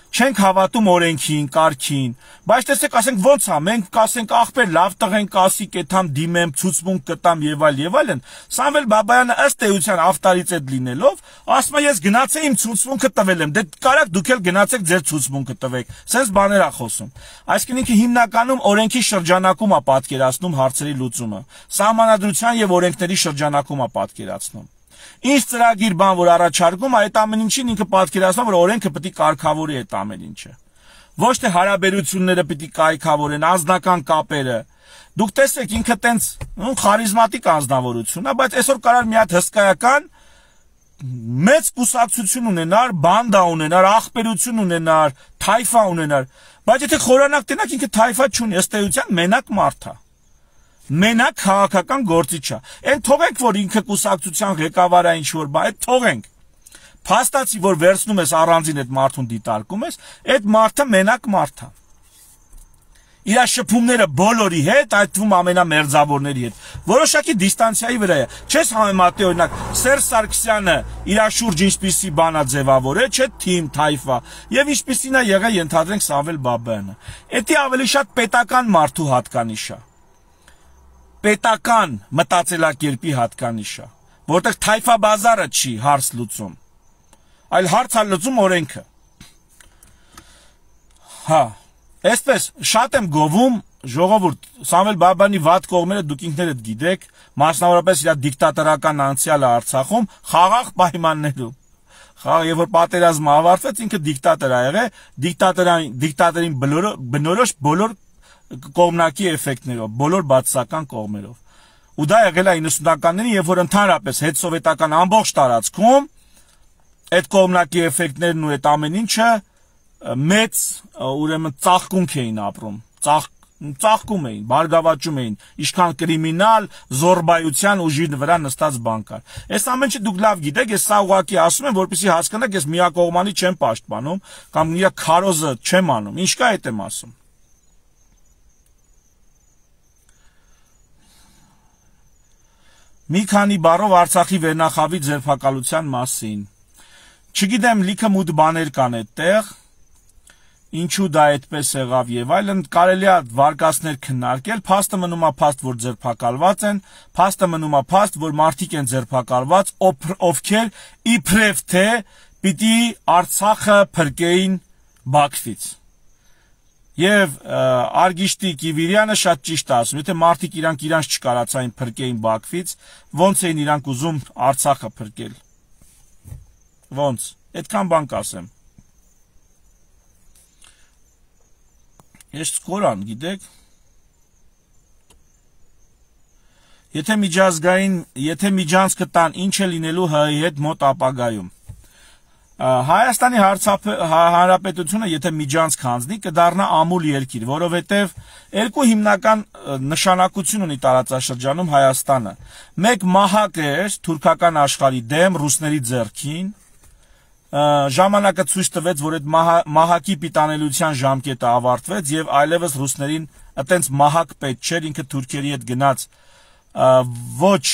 Չենք հավատում օրենքին, կարգին, բայց տեսեք, ասենք ոնց է, մենք կասենք ախպեր լավ տղեն կասի, կեթամ դիմեմ, ցուցմունք կտամ եւ այլ եւ այլն։ Սամվել Բաբայանը ըստ էության ավտորիտետ լինելով, ասում է ես գնացել իմ ցուցմունքը տվել եմ, դե կարաք դուք էլ գնացեք ձեր ցուցմունքը տվեք։ Սենց բաներ է խոսում։ Այսինքն ինքը հիմնականում օրենքի շրջանակում է պատկերացնում հարցերի լուծումը։ Սահմանադրության եւ օրենքների շրջանակում է պատկերացնում։ Ինչ ծրագիր բան որ առաջարկում, այդ ամեն ինչին ինքը պատկերացնում, որ օրենքը պետք է կարգավորի այդ ամեն ինչը։ Ոչ թե հարաբերությունները պետք է կայքավորեն, անձնական կապերը։ Դուք տեսեք, ինքը տենց խարիզմատիկ անձնավորություն է, բայց այսօր կարար մի հատ հսկայական մեծ կուսակցություն ունենար, բանդա ունենար, ախպերություն ունենար, թայֆա ունենար, բայց եթե խորանակ տենակ ինքը թայֆա չունի, ըստ էության մենակ մարդ է։ Մենակ քաղաքական գործիչ է։ Այն թողենք, որ ինքը կուսակցության ղեկավարը ինչ որ բա, այդ թողենք։ Փաստացի, որ վերցնում ես առանձին այդ մարդուն դիտարկում ես, այդ մարդը մենակ մարդ է։ իր շփումները բոլորի հետ, այդ թվում ամենամերձավորների հետ, որոշակի դիստանցիայի վրա է։ Չես համեմատի օրինակ Սերժ Սարգսյանը իր շուրջ ինչպիսի բան է ձևավորել, չէ՞ թիմ, թայֆա, եւ ինչպիսին է եղել ենթադրենք Սամվել Բաբայանը։ Էդի ավելի շատ պետական մարդու հատկանիշ է։ Պետական մտածելակերպի հատկանիշ է, որտեղ թայֆա բազարը չի հարց լուծում, այլ հարց է լուծում օրենքը։ Հա, այսպես շատ եմ գովում ժողովուրդ, Սամվել Բաբայանի վատ կողմերը դուք ինքներդ գիտեք, մասնավորապես իր դիկտատորական անցյալը Արցախում խաղաղ պայմաններում։ Խաղ, երբ որ պատերազմը ավարտվեց, ինքը դիկտատոր ա եղել, դիկտատորային դիկտատորին բնորոշ բոլոր կողմնակի էֆեկտներով, բոլոր բացասական կողմերով։ Ու դա եղել է իննսունականներին, երբ որ ընդհանրապես հետսովետական ամբողջ տարածքում այդ կողմնակի էֆեկտներն ու այդ ամեն ինչը մեծ ուրեմն ծաղկունք էին ապրում, ծաղկում էին, բարգավաճում էին, ինչքան կրիմինալ, զորբայության ուժի վրա նստած բան կար։ Այս ամեն ինչը դուք լավ գիտեք, ես սա ուղղակի ասում եմ, որպեսզի հասկանաք, ես միակողմանի չեմ պաշտպանում կամ իր քարոզը չեմ անում, ինչ կա այդ եմ ասում։ Մի քանի բառով Արցախի վերնախավի ձերբակալության մասին։ Չգիտեմ, լիքը մութ բաներ կան այդտեղ, ինչու դա այդպես եղավ եւ այլն, կարելի է վարկածներ քննարկել, փաստը մնում է փաստ, որ ձերբակալված են, փաստը մնում է փաստ, որ մարդիկ են ձերբակալված, ովքեր իբրև թե պիտի Արցախը փրկեին Բաքվից։ Եվ Արգիշտի Կիվիրյանը շատ ճիշտ է ասում, եթե մարդիկ իրանք իրանց չկարացային փրկեին Բաքվից, ոնց էին իրանք ուզում Արցախը փրկել։ Ոնց, այդքան բան կասեմ։ Ես սկորան, գիտեք, եթե միջազգային, եթե միջանցքը տան, ինչ է լինելու ՀՀ-ի հետ մոտ ապագայում։ Հայաստանի Հանրապետությունը, եթե միջանցք հանձնի, կդառնա ամուլ երկիր, որովհետև երկու հիմնական նշանակություն ունի տարածաշրջանում Հայաստանը։ Մեկ մահակ էր թուրքական աշխարհի դեմ, ռուսների ձեռքին, ժամանակը ցույց տվեց, որ այդ մահակի պիտանելիության ժամկետը ավարտվեց եւ այլևս ռուսներին այտենց մահակ պետք չէր, ինքը թուրքերի հետ գնաց ոչ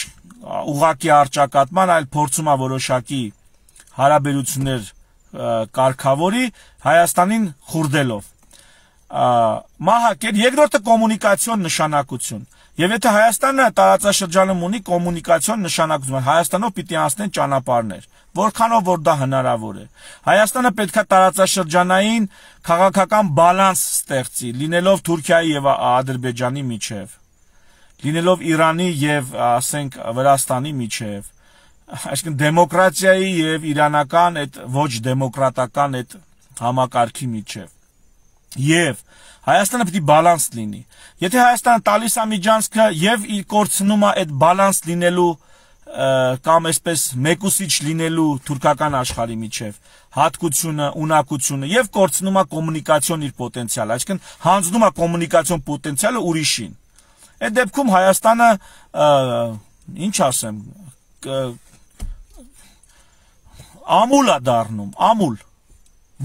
ուղակի արճակատման, այլ փորձում է որոշակի հարաբերություններ կարգավորի Հայաստանին խուրդելով։ Մահակ էր, երկրորդը կոմունիկացիոն նշանակություն։ Եվ եթե Հայաստանը տարածաշրջանում ունի կոմունիկացիոն նշանակություն, Հայաստանով պիտի անցնեն ճանապարհներ, որքանով որ դա հնարավոր է։ Հայաստանը պետք է տարածաշրջանային քաղաքական բալանս ստեղծի, լինելով Թուրքիայի եւ Ադրբեջանի միջև, լինելով Իրանի եւ ասենք Վրաստանի միջև, այսինքն դեմոկրատիայի եւ իրանական այդ ոչ դեմոկրատական այդ համակարգի միջև։ Եվ Հայաստանը պիտի բալանս լինի։ Եթե Հայաստանը տալիս է միջանցքը եւ կորցնում է այդ բալանս լինելու կամ այսպես մեկուսիչ լինելու թուրքական աշխարհի միջև հատկությունը, ունակությունը եւ կորցնում է կոմունիկացիոն իր պոտենցիալը, այսինքն հանձնում է կոմունիկացիոն պոտենցիալը ուրիշին։ Այդ դեպքում Հայաստանը ինչ ասեմ, ամուլ է դառնում, ամուլ։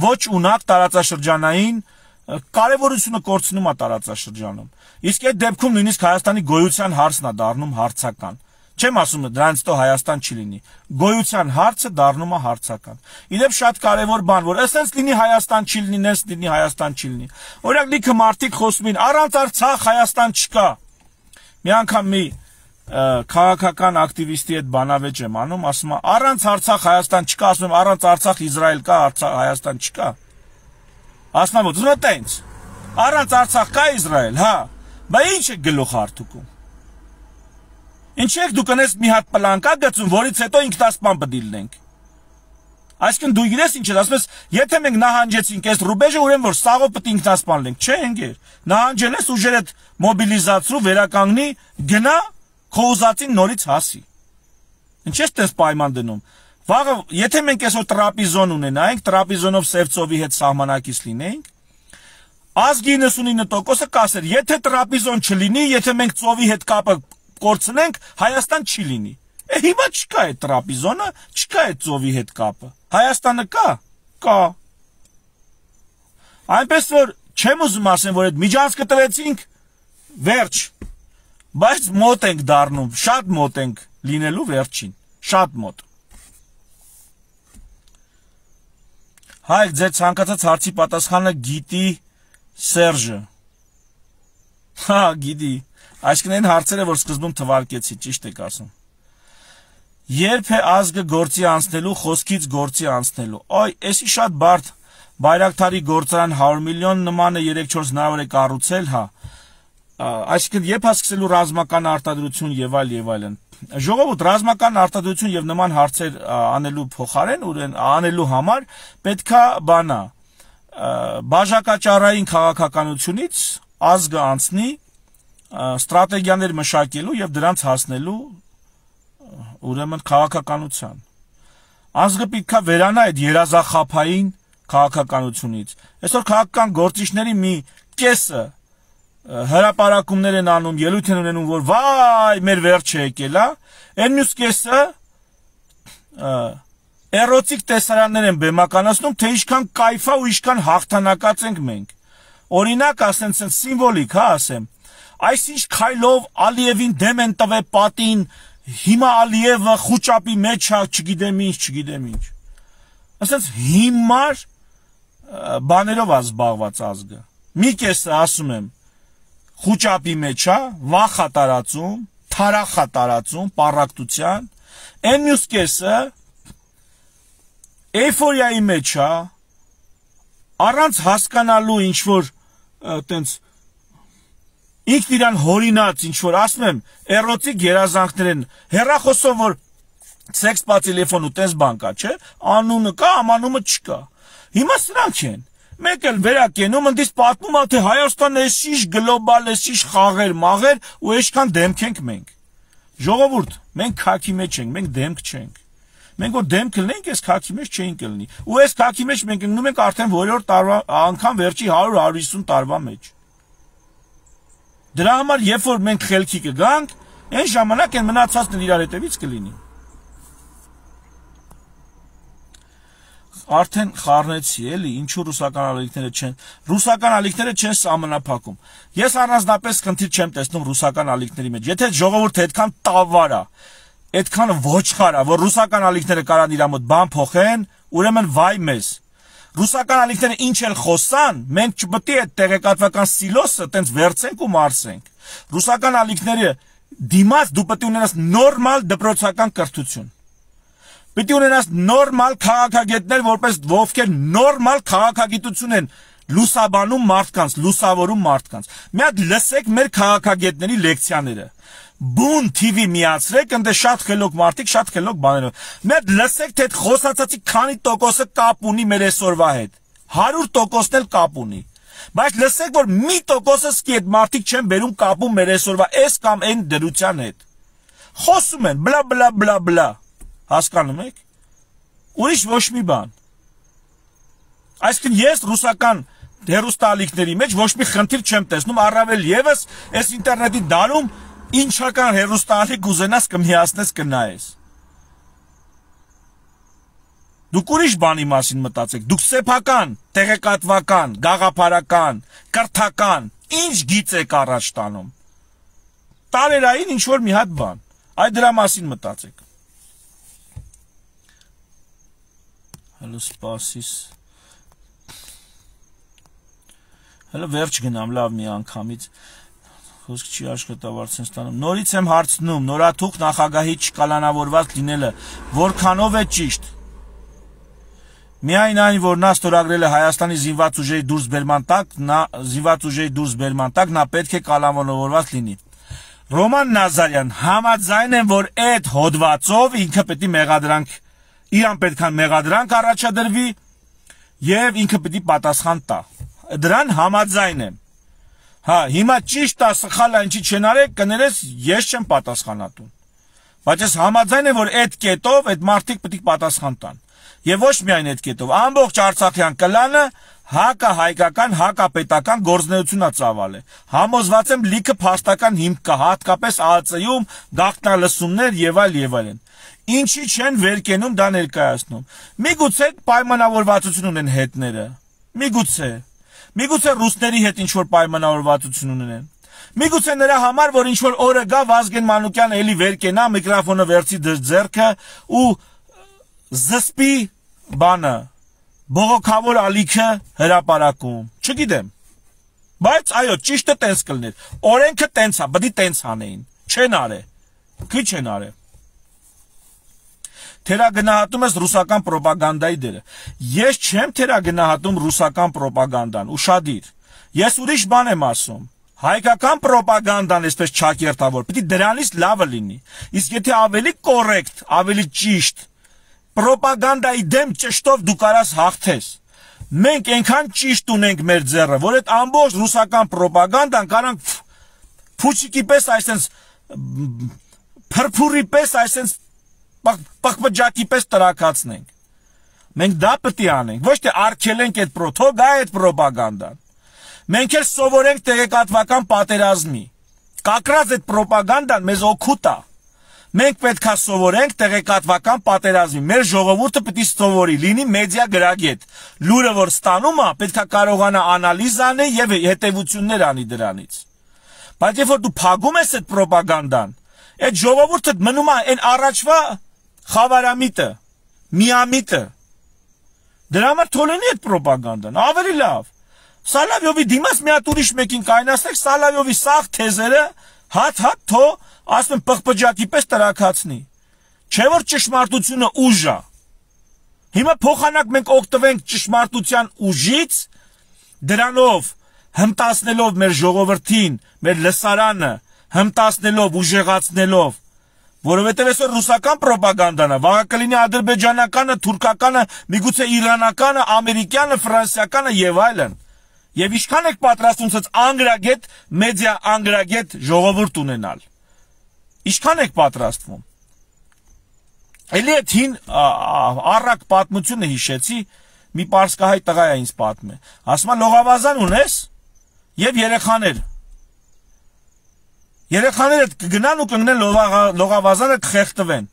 Ոչ ունակ տարածաշրջանային կարևորությունը կորցնում է տարածաշրջանում։ Իսկ այդ դեպքում նույնիսկ Հայաստանի գոյության հարցն է դառնում հարցական։ Չեմ ասում դրանից հետո Հայաստան չի լինի։ Գոյության հարցը դառնում է հարցական։ Իդեպ շատ կարևոր բան, որ այսպես լինի Հայաստան չի լինի, նես լինի Հայաստան չի լինի։ Օրինակ լիքը մարդիկ խոսում են, առանց Արցախ Հայաստան չկա։ Մի անգամ մի քաղաքական ակտիվիստի հետ բանավեճ եմ անում, ասում է առանց Արցախ Հայաստան չկա, ասում եմ առանց Արցախ Իսրայել կա, Հայաստան չկա։ Ասում եմ ո՞ւմ է տենց։ Առանց Արցախ կա Իսրայել, հա։ Բա ի՞նչ է գլուխ հարթուկում։ Ինչ եք դու կնես մի հատ պլանկա գծում, որից հետո ինքնասպան պիտի լինենք։ Այսինքն դու գիտես ինչ ես, ասում ես, եթե մենք նահանջեցինք այս ռուբեժը, ուրեմն որ սաղով պիտի ինքնասպան լինենք։ Չէ, ընկեր։ Նահանջել ես ուժերդ մոբիլիզացրու, վերականգնի, գնա քո ուզածին նորից հասի։ Ինչ ես դες պայման դնում։ Վաղը, եթե մենք այսօր տրապիզոն ունենայինք, տրապիզոնով Սևծովի հետ սահմանակից լինեինք, ազգի իննսունինը տոկոսը կասեր, եթե տրապիզոն չլինի, եթե մենք ծովի հետ կապը կորցնենք, Հայաստան չի լինի։ Է հիմա չկա այդ տրապիզոնը, չկա այդ ծովի հետ կապը։ Հայաստանը կա, կա։ Այնպես որ Չեմ ուզում ասեմ, որ այդ միջանցքը տվեցինք, վերջ, բայց մոտ ենք դառնում, շատ մոտ ենք լինելու վերջին, շատ մոտ։ Հայք, ձեր ցանկացած հարցի պատասխանը գիտի Սերժը։ Հա, գիտի, այսինքն այն հարցերը, որ սկզբում թվարկեցի, ճիշտ եք ասում։ Երբ է ազգը գործի անցնելու, խոսքից գործի անցնելու։ Այ, էսի շատ բարդ Բայրակթարի գործարան հարյուր միլիոն նմանը երեք-չորս հնարավոր է կառուցել, հա։ Այսինքն երբ է սկսելու ռազմական արտադրություն եւ այլ եւ այլն։ Ժողովուրդ, ռազմական արտադրություն եւ նման հարցեր անելու փոխարեն, ուրեն անելու համար պետքա բանա բաժակաճառային քաղաքականությունից ազգը անցնի ստրատեգիաներ մշակելու եւ դրանց հասնելու ուրեմն քաղաքականության։ Ազգը պետքա վերանա այդ երազախափային քաղաքականությունից։ Այսօր քաղաքական գործիչների մի կեսը հրապարակումներ են անում, ելույթ են ունենում, որ վայ, մեր վերջը եկել է, այն մյուս կեսը էրոտիկ տեսարաններ են բեմականացնում, թե ինչքան կայֆա ու ինչքան հաղթանակած ենք մենք։ Օրինակ, ասեմ, սիմվոլիկ, հա, ասեմ, այսինչ քայլով Ալիևին դեմ են տվել պատին, հիմա Ալիևը խուճապի մեջ է, չգիտեմ ինչ, չգիտեմ ինչ։ Ասենց հիմար բաներով է զբաղված ազգը։ Մի կեսը ասում եմ, խուճապի մեջ է, վախ է տարածում, թարախ է տարածում, պառակտության, այն մյուս կեսը էյֆորիայի մեջ է, առանց հասկանալու ինչ-որ տենց ինքն իրան հորինած ինչ-որ, ասում եմ, էրոտիկ երազանքներ են, հեռախոսով, որ սեքս պա տելեֆոն ու տես բան կա, չէ, անունը կա, ամանումը չկա, հիմա սրանք են, մեկ էլ վերակենում, ընդից պատմում է, թե Հայաստանը էսիշ գլոբալ, էսիշ խաղեր, մաղեր ու էշքան դեմք ենք մենք, ժողովուրդ, մենք քաքի մեջ ենք, մենք դեմք չենք, մենք որ դեմք կլնենք, այս քաքի մեջ չէինք կլնի, ու այս քաքի մեջ մենք ընկնում ենք արդեն որորդ տարվա, անգամ վերջի հարյուր հարյուր հիսուն տարվա մեջ, դրա համար երբ որ մենք խելքի կգանք, այն ժամանակ են մնացածն իրար հետևից կլինի։ Արդեն խառնեցի, էլի, ինչու ռուսական ալիքները չեն, ռուսական ալիքները չեն սահմանափակում։ Ես առանձնապես խնդիր չեմ տեսնում ռուսական ալիքների մեջ։ Եթե ժողովուրդը այդքան տավար է, այդքան ոչխար է, որ ռուսական ալիքները կարան իր մոտ բան փոխեն, ուրեմն վայ մեզ։ Ռուսական ալիքները ինչ էլ խոսան, մենք չպետք է այդ տեղեկատվական սիլոսը տենց վերցենք ու մարսենք։ Ռուսական ալիքները դիմաց դու պետք է ունենաս նորմալ դպրոցական կրթություն։ Պետք է ունենաս նորմալ քաղաքագետներ, որպես ովքեր նորմալ քաղաքագիտություն են լուսաբանում մարդկանց, լուսավորում մարդկանց։ Մի հատ լսեք մեր քաղաքագետների լեկցիաները։ Բուն թի վի միացրեք, ընդ շատ խելոք մարդիկ, շատ խելոք բաներով։ Մի հատ լսեք, թե այդ խոսածածի քանի տոկոսը կապ ունի մեր այսօրվա հետ։ հարյուր տոկոսն էլ կապ ունի։ Բայց լսեք, որ մի տոկոսը սկի այդ մարդիկ չեն բերում կապում մեր այսօրվա այս կամ այն դրության հետ։ Խոսում են, բլա բլա բլա բլա։ Հասկանում եք։ Ուրիշ ոչ մի բան։ Այսինքն ես ռուսական հեռուստաալիքների մեջ ոչ մի խնդիր չեմ տեսնում, առավել եւս այս ինտերնետի դարում ինչական հեռուստաալիք ուզենաս կմիացնես կնայես։ Դուք ուրիշ բանի մասին մտածեք, դուք սեփական, տեղեկատվական, գաղափարական, կրթական, ինչ գիծ եք առաջ տանում։ Տարերային ինչ որ մի հատ բան, այդ դրա մասին մտածեք։ Հələ սպասիս։ Հələ վերջ գնամ, լավ մի անգամից։ Խոսք չի աշխատավարձ են ստանում։ Նորից եմ հարցնում, նորաթուխ նախագահի չկալանավորված լինելը, որքանով է ճիշտ։ Միայն այն, որ նա ստորագրել է Հայաստանի զինված ուժերի դուրսբերման տակ, նա զինված ուժերի դուրսբերման տակ, նա պետք է կալանավորված լինի։ Ռոման Նազարյան, համաձայն եմ, որ այդ հոդվածով ինքը պետք է մեղադրանք, իրան պետք է մեղադրանք առաջադրվի եւ ինքը պետք է պատասխան տա։ Դրան համաձայն եմ։ Հա, հիմա ճիշտ է, սխալ է, ինչի չեն արել, կներես ես չեմ պատասխանատուն։ Բայց ես համաձայն եմ, որ այդ կետով այդ մարդիկ պետք է պատասխան տան։ Եվ ոչ միայն այդ կետով, ամբողջ Արցախյան կլանը հակահայկական, հակապետական գործունեություն է ծավալ է։ Համոզված եմ լիքը փաստական հիմք կա, հատկապես ԱԱԾ-ում գաղտնալսումներ եւ այլ եւ այլն։ Ինչի չեն վեր կենում դա ներկայացնում։ Միգուցե պայմանավորվածություն ունեն հետները։ Միգուցե։ Միգուցե ռուսների հետ ինչ որ պայմանավորվածություն ունենեն։ Միգուցե նրա համար, որ ինչ որ օրը գա Վազգեն Մանուկյանը էլի վեր կենա, միկրոֆոնը վերցի ձեռքը ու զսպի բանը, բողոքավոր ալիքը հրապարակում։ Չգիտեմ։ Բայց այո, ճիշտը տենց կլներ։ Օրենքը տենց է, բդի տենց անեին։ Չեն արե։ Քիչ են արե։ Թերագնահատում ես ռուսական պրոպագանդայի դերը։ Ես չեմ թերագնահատում ռուսական պրոպագանդան, ուշադիր։ Ես ուրիշ բան եմ ասում։ Հայկական պրոպագանդան այսպես չակերտավոր, պիտի դրանից լավը լինի։ Իսկ եթե ավելի կոռեկտ, ավելի ճիշտ պրոպագանդայի դեմ ճշտով դու կարաս հաղթես։ Մենք այնքան ճիշտ ունենք մեր ձեռը, որ այդ ամբողջ ռուսական պրոպագանդան կարանք փուչիկի պես այսպես փրփուրի պես այսպես պղպջակի պես տրակացնենք։ Մենք դա պետք է անենք, ոչ թե արգելենք այդ պրոթոգա այդ պրոպագանդան։ Մենք էլ սովորենք տեղեկատվական պատերազմի։ Կակրած այդ պրոպագանդան մեզ օգուտ է։ Մենք պետք է սովորենք տեղեկատվական պատերազմի։ Մեր ժողովուրդը պետք է սովորի, լինի մեդիա գրագետ։ Լուրը որ ստանում է, պետք է կարողանա անալիզ անի եւ հետեւություններ անի դրանից։ Բայց երբ որ դու փագում ես այդ պրոպագանդան, այդ ժողովուրդը մնում է այն առաջվա խավարամիտը, միամիտը։ Դրա համար թողնի այդ պրոպագանդան, ավելի լավ։ Սալավյովի դիմաց մի հատ ուրիշ մեկին կայնացնեք, Սալավյովի սաղ թեզերը հատ-հատ թո ասում են պղպջակի պես տրակացնի։ Չէ որ ճշմարտությունը ուժ է։ Հիմա փոխանակ մենք օգտվենք ճշմարտության ուժից, դրանով հմտացնելով մեր ժողովրդին, մեր լսարանը, հմտացնելով, ուժեղացնելով, որովհետև այսօր ռուսական պրոպագանդան է, վաղը կլինի ադրբեջանականը, թուրքականը, միգուցե իրանականը, ամերիկյանը, ֆրանսիականը եւ այլն։ Եվ ինչքան եք պատրաստում ցած անգրագետ, մեդիա անգրագետ ժողովուրդ ունենալ։ Ինչքան եք պատրաստվում։ Էլի այդ հին առակ պատմությունը հիշեցի, մի պարսկահայ տղա է ինձ պատմում է։ Ասում է լողավազան ունես եւ երեխաներ։ Երեխաները կգնան ու կընկնեն լողավազանը կխեղտվեն։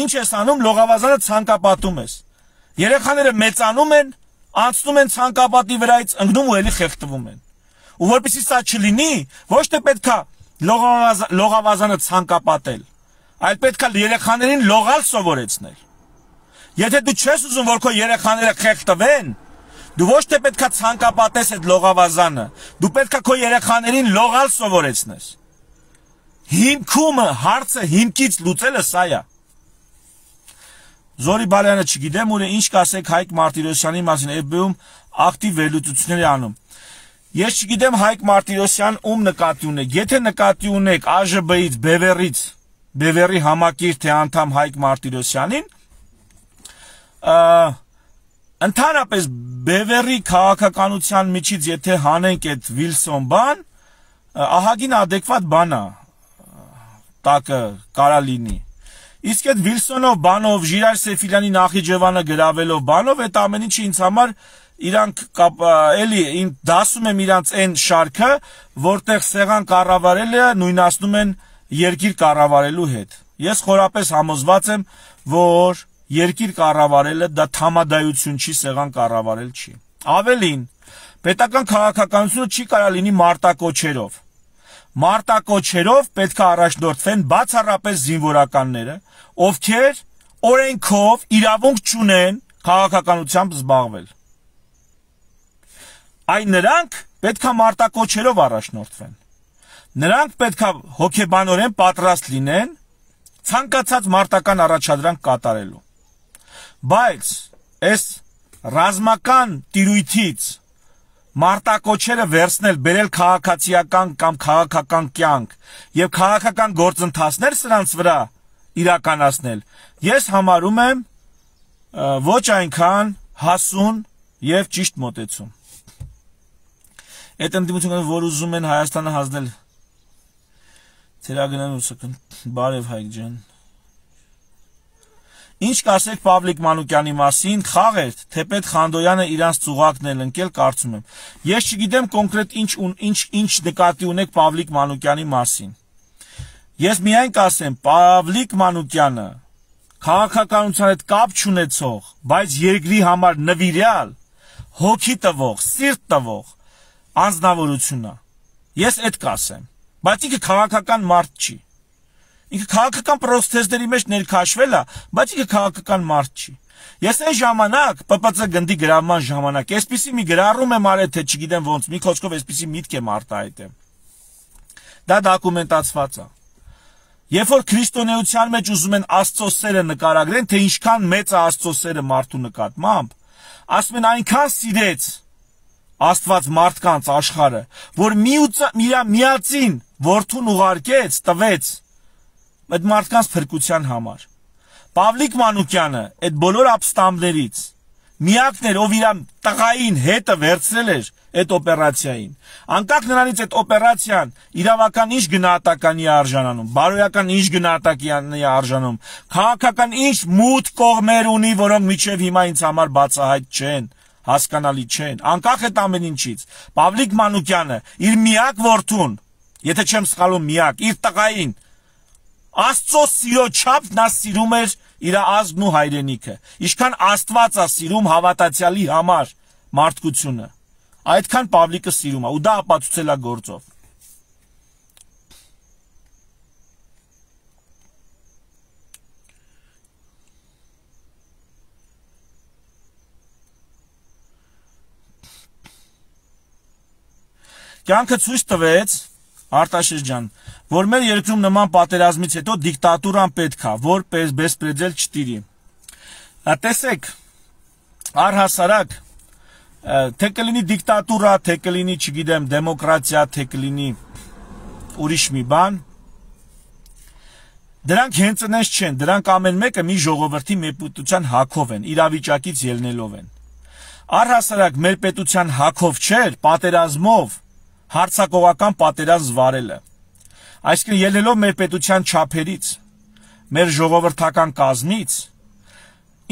Ինչ ես անում, լողավազանը ցանկապատում ես։ Երեխաները մեծանում են, անցնում են ցանկապատի վրայից, ընկնում ու էլի խեղտվում են։ Ու որպեսզի սա չլինի, ոչ թե պետքա լողավազանը ցանկապատել, այլ պետքա երեխաներին լողալ սովորեցնել։ Եթե դու չես ուզում, որ քո երեխաները խեղտվեն, դու ոչ թե պետքա ցանկապատես այդ լողավազանը, դու պետքա քո երեխաներին լողալ սովորեցնես։ Հիմքումը, հարցը հիմքից լուծելը սա է։ Զորի Բալյանը չգիտեմ ուր է, ինչ կասեք Հայկ Մարտիրոսյանի մասին, Էֆ Բի-ում ակտիվ վերլուծություններ է անում։ Ես չգիտեմ Հայկ Մարտիրոսյան ում նկատի ունեք, եթե նկատի ունեք Ա Ժ Բ-ից, Բևերից, Բևերի համակիր թե անդամ Հայկ Մարտիրոսյանին, ընդհանրապես Բևերի քաղաքականության միջից եթե հանենք այդ Վիլսոն բան, ահագին adekvat բան է, տակը կարա լինի։ Իսկ այդ Վիլսոնով բանով, Ժիրայր Սեֆիլյանի Նախիջևանը գրավելով բանով, այդ ամեն ինչը ինձ համար իրանք էլի դասում եմ իրանց այն շարքը, որտեղ սեղան կառավարելը նույնացնում են երկիր կառավարելու հետ։ Ես խորապես համոզված եմ, որ երկիր կառավարելը դա թամադայություն չի, սեղան կառավարել չի։ Ավելին, պետական քաղաքականությունը չի կարա լինի մարտակոչերով։ Մարտակոչերով պետք է առաջնորդվեն բացառապես զինվորականները, ովքեր օրենքով իրավունք չունեն քաղաքականությամբ զբաղվել։ Այն նրանք պետք է մարտակոչերով առաջնորդվեն։ Նրանք պետք է հոգեբանորեն պատրաստ լինեն ցանկացած մարտական առաջադրանք կատարելու։ Բայց այս ռազմական տիրույթից մարտակոչերը վերցնել, բերել քաղաքացիական կամ քաղաքական կյանք եւ քաղաքական գործընթացներ սրանց վրա իրականացնել, ես համարում եմ ոչ այնքան հասուն եւ ճիշտ մոտեցում։ Այդ ընդդիմությունը, որ ուզում են Հայաստանը հանձնել Թերագնան ուսական, բարև Հայկ ջան։ Ինչ կասեք Պավլիկ Մանուկյանի մասին, խաղ էր, թեպետ Խանդոյանը իրանց ծուղակն էլ ընկել, կարծում եմ։ Ես չգիտեմ կոնկրետ ինչ ինչ ինչ նկատի ունեք Պավլիկ Մանուկյանի մասին։ Ես միայն կասեմ, Պավլիկ Մանուկյանը քաղաքականության հետ կապ չունեցող, բայց երկրի համար նվիրյալ, հոգի տվող, սիրտ տվող, անձնավորություն է։ Ես այդ կասեմ, բայց ինքը քաղաքական մարդ չի։ Ինքը քաղաքական պրոցեսների մեջ ներքաշվել է, բայց ինքը քաղաքական մարդ չի։ Ես այն ժամանակ Պ Պ Ց գնդի գրավման ժամանակ այսպիսի մի գրառում եմ արել, թե չգիտեմ ոնց, մի խոսքով այսպիսի միտք եմ արտահայտեմ։ Դա դոկումենտացված է։ Երբ որ քրիստոնեության մեջ ուզում են Աստծո սերը նկարագրեն, թե ինչքան մեծ է Աստծո սերը մարդու նկատմամբ, ասում են այնքան սիրեց Աստված մարդկանց աշխարհը, որ միածին որդուն ուղարկեց, տվեց այդ մարդկանց փրկության համար։ Պավլիկ Մանուկյանը այդ բոլոր ապստամբներից միակն էր, ով իր տղային հետը վերցրել էր այդ օպերացիային։ Անկախ նրանից այդ օպերացիան իրավական ինչ գնահատականի է արժանանում, բարոյական ինչ գնահատականի է արժանում, քաղաքական ինչ մութ կողմեր ունի, որոնք մինչև հիմա ինձ համար բացահայտ չեն, հասկանալի չեն։ Անկախ այդ ամեն ինչից, Պավլիկ Մանուկյանը իր միակ որդուն, եթե չեմ սխալվում միակ, իր տղային Աստծո սիրո չափ նա սիրում էր իր ազգն ու հայրենիքը։ Ինչքան Աստված է սիրում հավատացյալի համար մարդկությունը, այդքան Պավլիկը սիրում է, ու դա ապացուցել է գործով։ Կյանքը ցույց տվեց, Արտաշես ջան, որ մեր երկրում նման պատերազմից հետո դիկտատուրան պետք է, որ բեսպրեդել չտիրի։ Տեսեք, առհասարակ, թե կլինի դիկտատուրա, թե կլինի, չգիտեմ, դեմոկրատիա, թե կլինի ուրիշ մի բան, դրանք հենց այնպես չեն, դրանք ամեն մեկը մի ժողովրդի մեր պետության հակով են, իրավիճակից ելնելով են։ Առհասարակ մեր պետության հակով չէր, պատերազմով հարցակողական պատերազմ վարելը։ Այսինքն ելնելով մեր պետության չափերից, մեր ժողովրդական կազմից,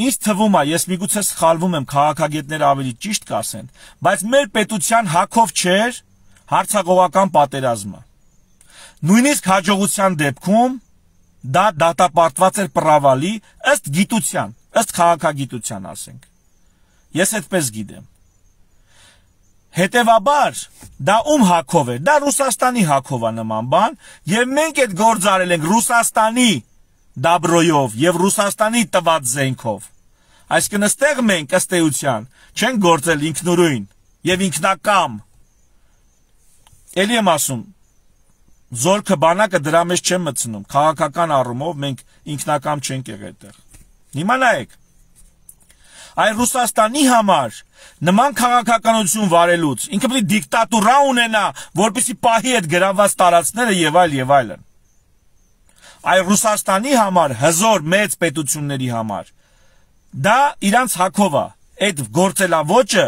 ինձ թվում է, ես միգուցե սխալվում եմ, քաղաքագետները ավելի ճիշտ կասեն, բայց մեր պետության հակով չէր հարցակողական պատերազմը։ Նույնիսկ հաջողության դեպքում դա դատապարտված էր պրավալի ըստ գիտության, ըստ քաղաքագիտության, ասենք։ Ես այդպես գիտեմ։ Հետևաբար, դա ում հակով է, դա Ռուսաստանի հակով է նման բան, և մենք այդ գործ արել ենք Ռուսաստանի դաբրոյով և Ռուսաստանի տված զենքով։ Այսինքն այստեղ մենք ըստ էության չենք գործել ինքնուրույն և ինքնակամ։ Էլի եմ ասում, զորքը բանակը դրա մեջ չեմ մտցնում, քաղաքական առումով մենք ինքնակամ չենք եղել այդտեղ։ Հիմա նայեք, այ Ռուսաստանի համար նման քաղաքականություն վարելուց ինքը պետք է դիկտատուրա ունենա, որպեսզի պահի այդ գրավված տարածքները եւ այլ եւ այլն։ Այ Ռուսաստանի համար, հզոր մեծ պետությունների համար, դա իրանց հակով է, այդ գործելավոճը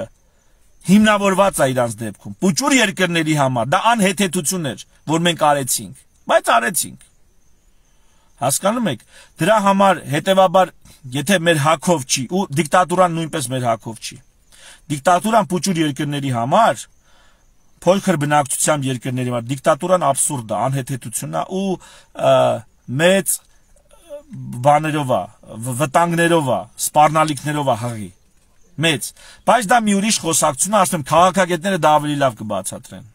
հիմնավորված է իրանց դեպքում։ Պուճուր երկրների համար դա անհեթեթություն էր, որ մենք արեցինք, բայց արեցինք։ Հասկանում եք, դրա համար հետևաբար, եթե մեր հակով չի, ու դիկտատուրան նույնպես մեր հակով չի։ Դիկտատուրան պուճուր երկրների համար, փոքր բնակչությամբ երկրների համար, դիկտատուրան աբսուրդ է, անհեթեթություն է ու մեծ բաներով է, վտանգներով է, սպառնալիքներով է հղի։ Մեծ, բայց դա մի ուրիշ խոսակցություն է, ասում եմ, քաղաքագետները դա ավելի լավ կբացատրեն։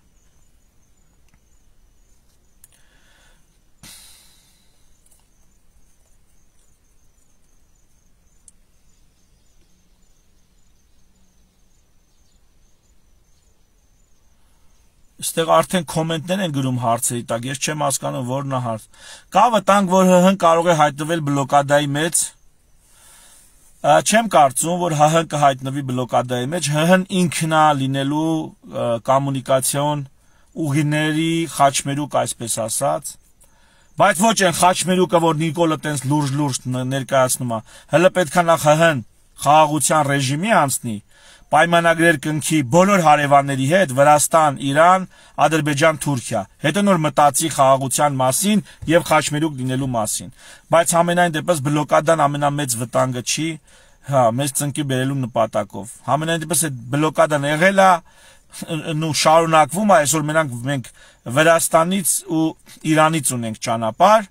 Այստեղ արդեն կոմենտներ են գրում հարցերի տակ, ես չեմ հասկանում որն է հարց։ Կա վտանգ, որ ՀՀ-ն կարող է հայտնվել բլոկադայի մեջ։ Չեմ կարծում, որ ՀՀ-ն կհայտնվի բլոկադայի մեջ, ՀՀ-ն ինքն է լինելու կոմունիկացիոն ուղիների խաչմերուկ, այսպես ասած։ Բայց ոչ այն խաչմերուկը, որ Նիկոլը տենց լուրջ-լուրջ ներկայացնում է, հələ պետք է նախ ՀՀ-ն խաղաղության ռեժիմի անցնի, պայմանագրեր կնքի բոլոր հարևանների հետ, Վրաստան, Իրան, Ադրբեջան, Թուրքիա, հետո նոր մտածի խաղաղության մասին եւ խաչմերուկ լինելու մասին։ Բայց ամենայն դեպս բլոկադան ամենամեծ վտանգը չի, հա, մեծ ծնկի բերելու նպատակով։ Ամենայն դեպս այդ բլոկադան եղել է ու շարունակվում է, այսօր մենակ մենք Վրաստանից ու Իրանից ունենք ճանապարհ։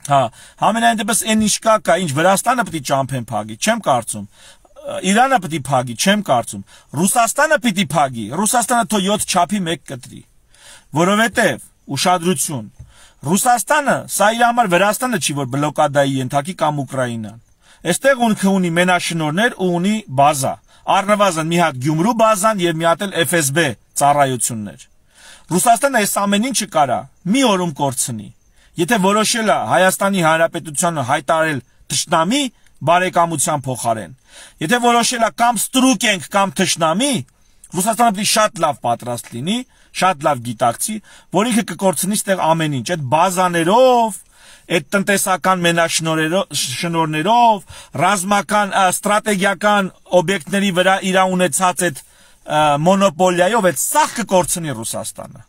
Հա, ամենայն դեպս այն ինչ կա, կա, ինչ Վրաստանը պետք է ճամփեն փակի, չեմ կարծում։ Իրանը պիտի փագի, չեմ կարծում։ Ռուսաստանը պիտի փագի, Ռուսաստանը թո յոթ չափի մեկ կտրի։ Որովհետև ուշադրություն, Ռուսաստանը սա իր համար Վրաստանը չի, որ բլոկադայի ենթակի կամ Ուկրաինան։ Այստեղ ունքը ունի մենաշնորհներ ու ունի բազա, առնվազն մի հատ Գյումրու բազան եւ մի հատ էլ Էֆ Էս Բե ծառայություններ։ Ռուսաստանը այս ամեն ինչը կարա մի օրում կորցնի։ Եթե որոշել է Հայաստանի Հանրապետությանը հայտարարել թշնամի բարեկամության փոխարեն, եթե որոշել է կամ ստրուկ ենք կամ թշնամի, Ռուսաստանը պետք է շատ լավ պատրաստ լինի, շատ լավ գիտակցի, որ ինքը կկորցնի ստեղ ամեն ինչ, այդ բազաներով, այդ տնտեսական մենաշնորհներով, ռազմական ստրատեգիական օբյեկտների վրա իր ունեցած այդ մոնոպոլիայով այդ սաղ կկորցնի Ռուսաստանը։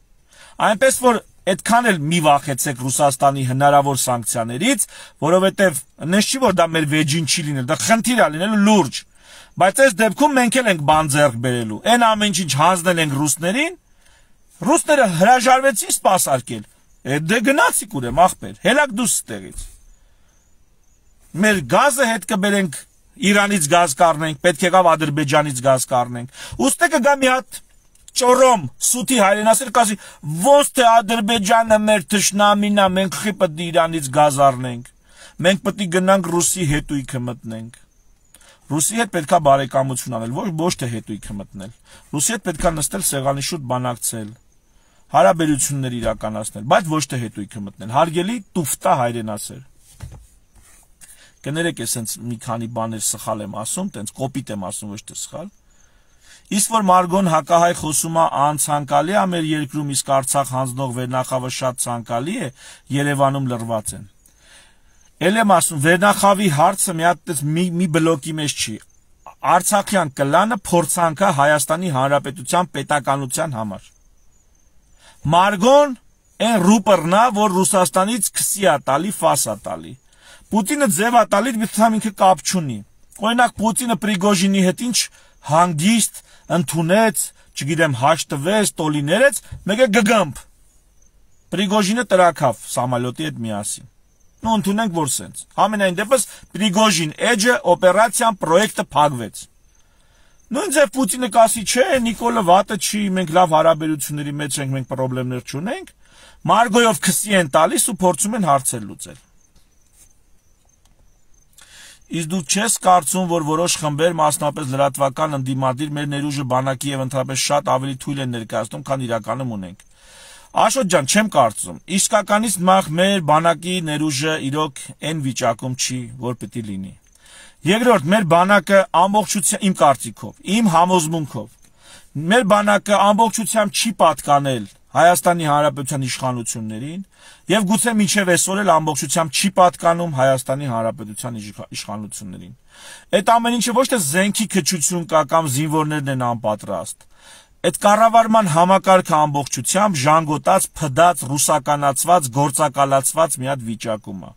Այնպես որ այդքան էլ մի վախեցեք Ռուսաստանի հնարավոր սանկցիաներից, որովհետև նես չի որ դա մեր վեջին չի լինել, դա խնդիր է լինելու լուրջ։ Բայց այս դեպքում մենք էլ ենք բան ձեռք բերելու։ Այն ամեն ինչ հանձնել ենք ռուսներին, ռուսները հրաժարվեցին սպասարկել։ Դե գնացիք ուրեմն ախպեր, հելակ դուս ստեղից։ Մեր գազը հետ կբերենք, Իրանից գազ կառնենք, պետք եղավ Ադրբեջանից գազ կառնենք։ Ուստի կգա մի հատ ճորոմ սուտի հայրենասեր կասի, ոնց թե Ադրբեջանը մեր թշնամին է, մենք խի պետք է Իրանից գազ առնենք։ Մենք պետք է գնանք Ռուսի հետույքը մտնենք։ Ռուսի հետ պետքա բարեկամություն անել, ոչ ոչ թե հետույքը մտնել։ Ռուսի հետ պետքա նստել սեղանի շուտ բանակցել, հարաբերություններ իրականացնել, բայց ոչ թե հետույքը մտնել։ Հարգելի տուֆտա հայրենասեր։ Կներեք, էսենց մի քանի բաներ սխալ եմ ասում, տենց կոպիտ եմ ասում, ոչ թե սխալ։ Իսկ որ Մարգոն հակահայ խոսում է անցանկալի է մեր երկրում, իսկ Արցախ հանձնող վերնախավը շատ ցանկալի է, Երևանում լրված են։ Էլ եմ ասում, վերնախավի հարցը մի հատ մի, մի բլոկի մեջ չի։ Արցախյան կլանը փորձանք է Հայաստանի Հանրապետության պետականության համար։ Մարգոն այն ռուպերն է, որ Ռուսաստանից քսի է տալի, ֆաս է տալի։ Պուտինը ձև է տալի, միտամ ինքը կապ չունի։ Օրինակ Պուտինը Պրիգոժինի հետ ինչ հանգիստ ընդունեց, չգիտեմ, հաշտվեց, տոլիներեց, մեկ է գգամբ։ Պրիգոժինը տրակավ սամալյոտի հետ միասին։ Ну ընդունենք որ սենց։ Համենայն դեպս Պրիգոժին էջը օպերացիան պրոյեկտը փակվեց։ Նույն ձև Պուտինը կասի, չէ, Նիկոլը վատը չի, մենք լավ հարաբերությունների մեջ ենք, մենք խնդիրներ չունենք։ Մարգոյով քսի են տալիս ու փորձում են հարցեր լուծել։ Իսկ դու չես կարծում, որ որոշ խմբեր, մասնապես լրատվական ընդդիմադիր, մեր ներուժը բանակի եւ ընդհանրապես շատ ավելի թույլ են ներկայացնում, քան իրականում ունենք։ Աշոտ ջան, չեմ կարծում։ Իսկականից նախ մեր բանակի ներուժը իրոք այն վիճակում չի, որ պիտի լինի։ Երկրորդ, մեր բանակը ամբողջությամբ իմ կարծիքով, իմ համոզմունքով, մեր բանակը ամբողջությամբ չի պատկանել Հայաստանի Հանրապետության իշխանություններին եւ գուցե մինչեւ այսօր էլ ամբողջությամբ չի պատկանում Հայաստանի Հանրապետության իշխանություններին։ Այդ ամեն ինչը ոչ թե զենքի քչություն կա կամ զինվորներն են անպատրաստ։ Այդ կառավարման համակարգը ամբողջությամբ ժանգոտած, փդած, ռուսականացված, գործակալացված մի հատ վիճակում է։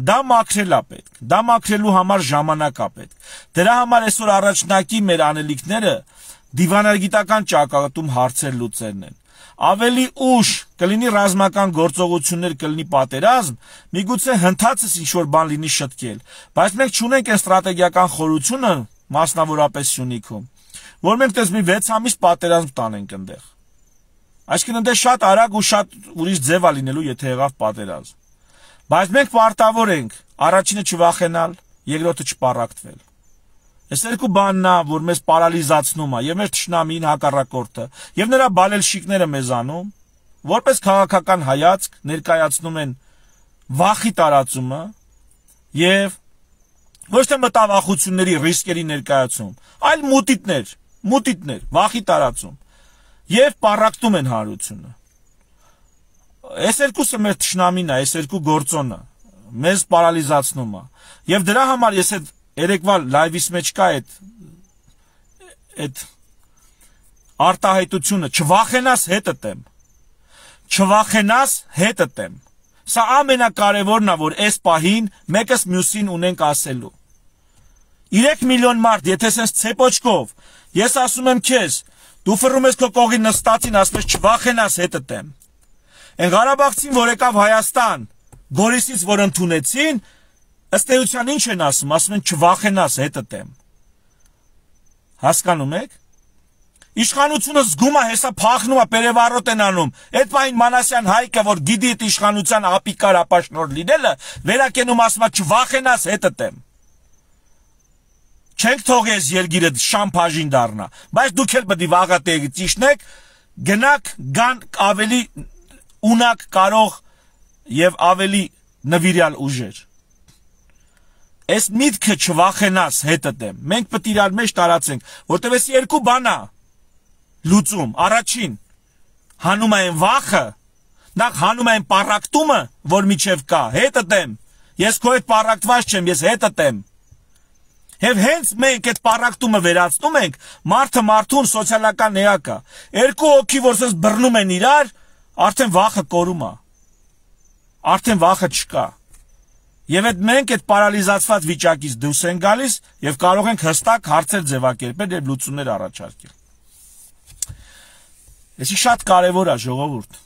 Դա մաքրել է պետք։ Դա մաքրելու համար ժամանակ է պետք։ Դրա համար այսօր առաջնակի մեր անելիքները դիվանագիտական ճակատում հարցեր լուծելն են։ Ավելի ուշ կլինի ռազմական գործողություններ, կլինի պատերազմ, միգուցե հնդածս ինչ-որ բան լինի շտկել, բայց մենք չունենք այն ստրատեգիական խորությունը, մասնավորապես Սյունիքում, որ մենք տես մի վեց ամիս պատերազմ տանենք այնտեղ։ Այսինքն այնտեղ շատ արագ ու շատ ուրիշ ձև է լինելու, եթե եղավ պատերազմ։ Բայց մենք պարտավոր ենք առաջինը չվախենալ, երկրորդը չպառակտվել։ Այս երկու բանն է, որ մեզ պարալիզացնում է, եւ մեր թշնամին հակառակորդը, եւ նրա բալելշիկները մեզանում, որպես քաղաքական հայացք ներկայացնում են վախի տարածումը եւ ոչ թե մտավախությունների, ռիսկերի ներկայացում, այլ մուտիտներ, մուտիտներ, վախի տարածում եւ պառակտում են հանրությունը։ Այս երկուսը մեր թշնամին է, այս երկու գործոնը մեզ պարալիզացնում է։ Եվ դրա համար ես այդ երեկվա լայվիս մեջ կա այդ այդ արտահայտությունը, չվախենաս հետդ եմ, չվախենաս հետդ եմ, սա ամենակարևորն է, որ այս պահին մեկս մյուսին ունենք ասելու, երեք միլիոն մարդ, եթե սենց ցեպոչկով, ես ասում եմ քեզ, դու ֆռում ես քո կողի նստածին, ասում ես չվախենաս հետդ եմ, այն Ղարաբաղցին, որ եկավ Հայաստան, Գորիսից, որ ընդունեցին, ըստ էության ինչ են ասում, ասում են չվախենաս հետդ եմ։ Հասկանում եք։ Իշխանությունը զգում է, հեսա փախնում է, պերևառոտ են անում։ Այդ պահին Մանասյան Հայկը, որ գիտի այդ իշխանության ապիկար ապաշնոր լինելը, վերակենում ասում է չվախենաս հետդ եմ։ Չենք թողես երգիրը շամփաժին դառնա, բայց դուք էլ պետք է վաղատեղի ճիշտնեք, գնաք գան ավելի ունակ կարող եւ ավելի նվիրյալ ուժեր։ Այս միտքը չվախենաս հետդ եմ։ Մենք պետք է իրար մեջ տարածենք, որտեվ էս երկու բան է լուծում։ Առաջին հանում են վախը, նախ հանում են պարակտումը, որ միջև կա, հետդ եմ։ Ես քո հետ պարակտված չեմ, ես հետդ եմ։ Եվ հենց մենք այդ պարակտումը վերացնում ենք, մարդը մարդուն սոցիալական էակ է։ Երկու հոգի, որ սենց բռնում են իրար, արդեն վախը կորում է։ Արդեն վախը չկա։ Եվ այդ մենք այդ պարալիզացված վիճակից դուրս են գալիս եւ կարող ենք հստակ հարցեր ձևակերպել եւ լուծումներ առաջարկել։ Էսի շատ կարևոր է, ժողովուրդ։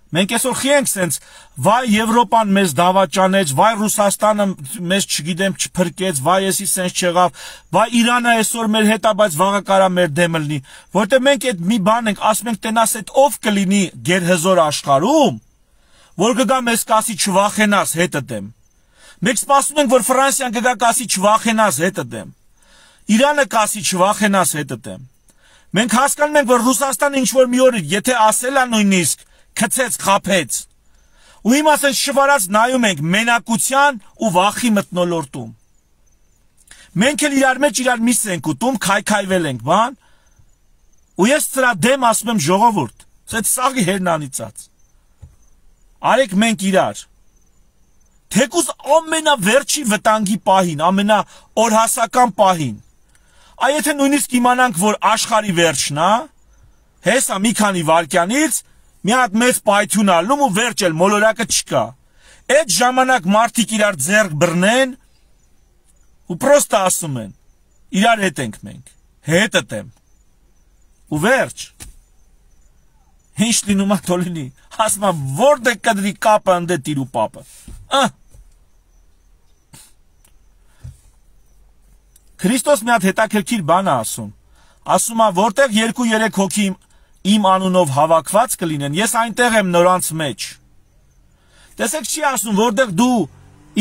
Մենք այսօր խի ենք սենց, վայ Եվրոպան մեզ դավաճանեց, վայ Ռուսաստանը մեզ չգիտեմ չփրկեց, վայ եսի սենց չեղավ, վայ Իրանը այսօր մեր հետ է, բայց վաղը կարա մեր դեմը լինի, որտեղ մենք այդ մի բան ենք, ասում ենք տենաս այդ ով կլինի գերհզոր աշխարհում, որ կգա մեզ կասի չվախենաս հետդ եմ։ Մենք սպասում ենք, որ Ֆրանսիան կգա կասի չվախենաս հետդ եմ։ Իրանը կասի չվախենաս հետդ եմ։ Մենք հասկանում ենք, որ Ռուսաստանը ինչ որ մի օր եթե ասել է նույնիսկ քցեց, խափեց։ Ու հիմա ասեն շվարած նայում ենք մենակության ու վախի մթնոլորտում։ Մենք էլ իրար մեջ իրար միս ենք ուտում, քայքայվել ենք, բան։ Ու ես սրա դեմ ասում եմ ժողովուրդ, սենց սաղի հերնանիցած։ Արեք մենք իրար։ Թեկուզ ամենավերջի վտանգի պահին, ամենաօրհասական պահին։ Այ եթե նույնիսկ իմանանք, որ աշխարհի վերջն է, հեսա մի քանի վայրկյանից մի հատ մեծ պայթյուն ալնում ու վերջ էլ մոլորակը չկա։ Այդ ժամանակ մարդիկ իրար ձեռք բռնեն ու պրոստը ասում են, իրար հետ ենք մենք, հետդ եմ։ Ու վերջ։ Ինչ լինում է թոլինի, ասում է որտե կդրի կապը ընդե տիրու պապը։ Ահ։ Քրիստոս մի հատ հետաքրքիր բան է ասում։ Ասում է որտեղ երկու երեք հոգի իմ անունով հավաքված կլինեն, ես այնտեղ եմ նորանց մեջ։ Տեսեք չի ասում, որտեղ դու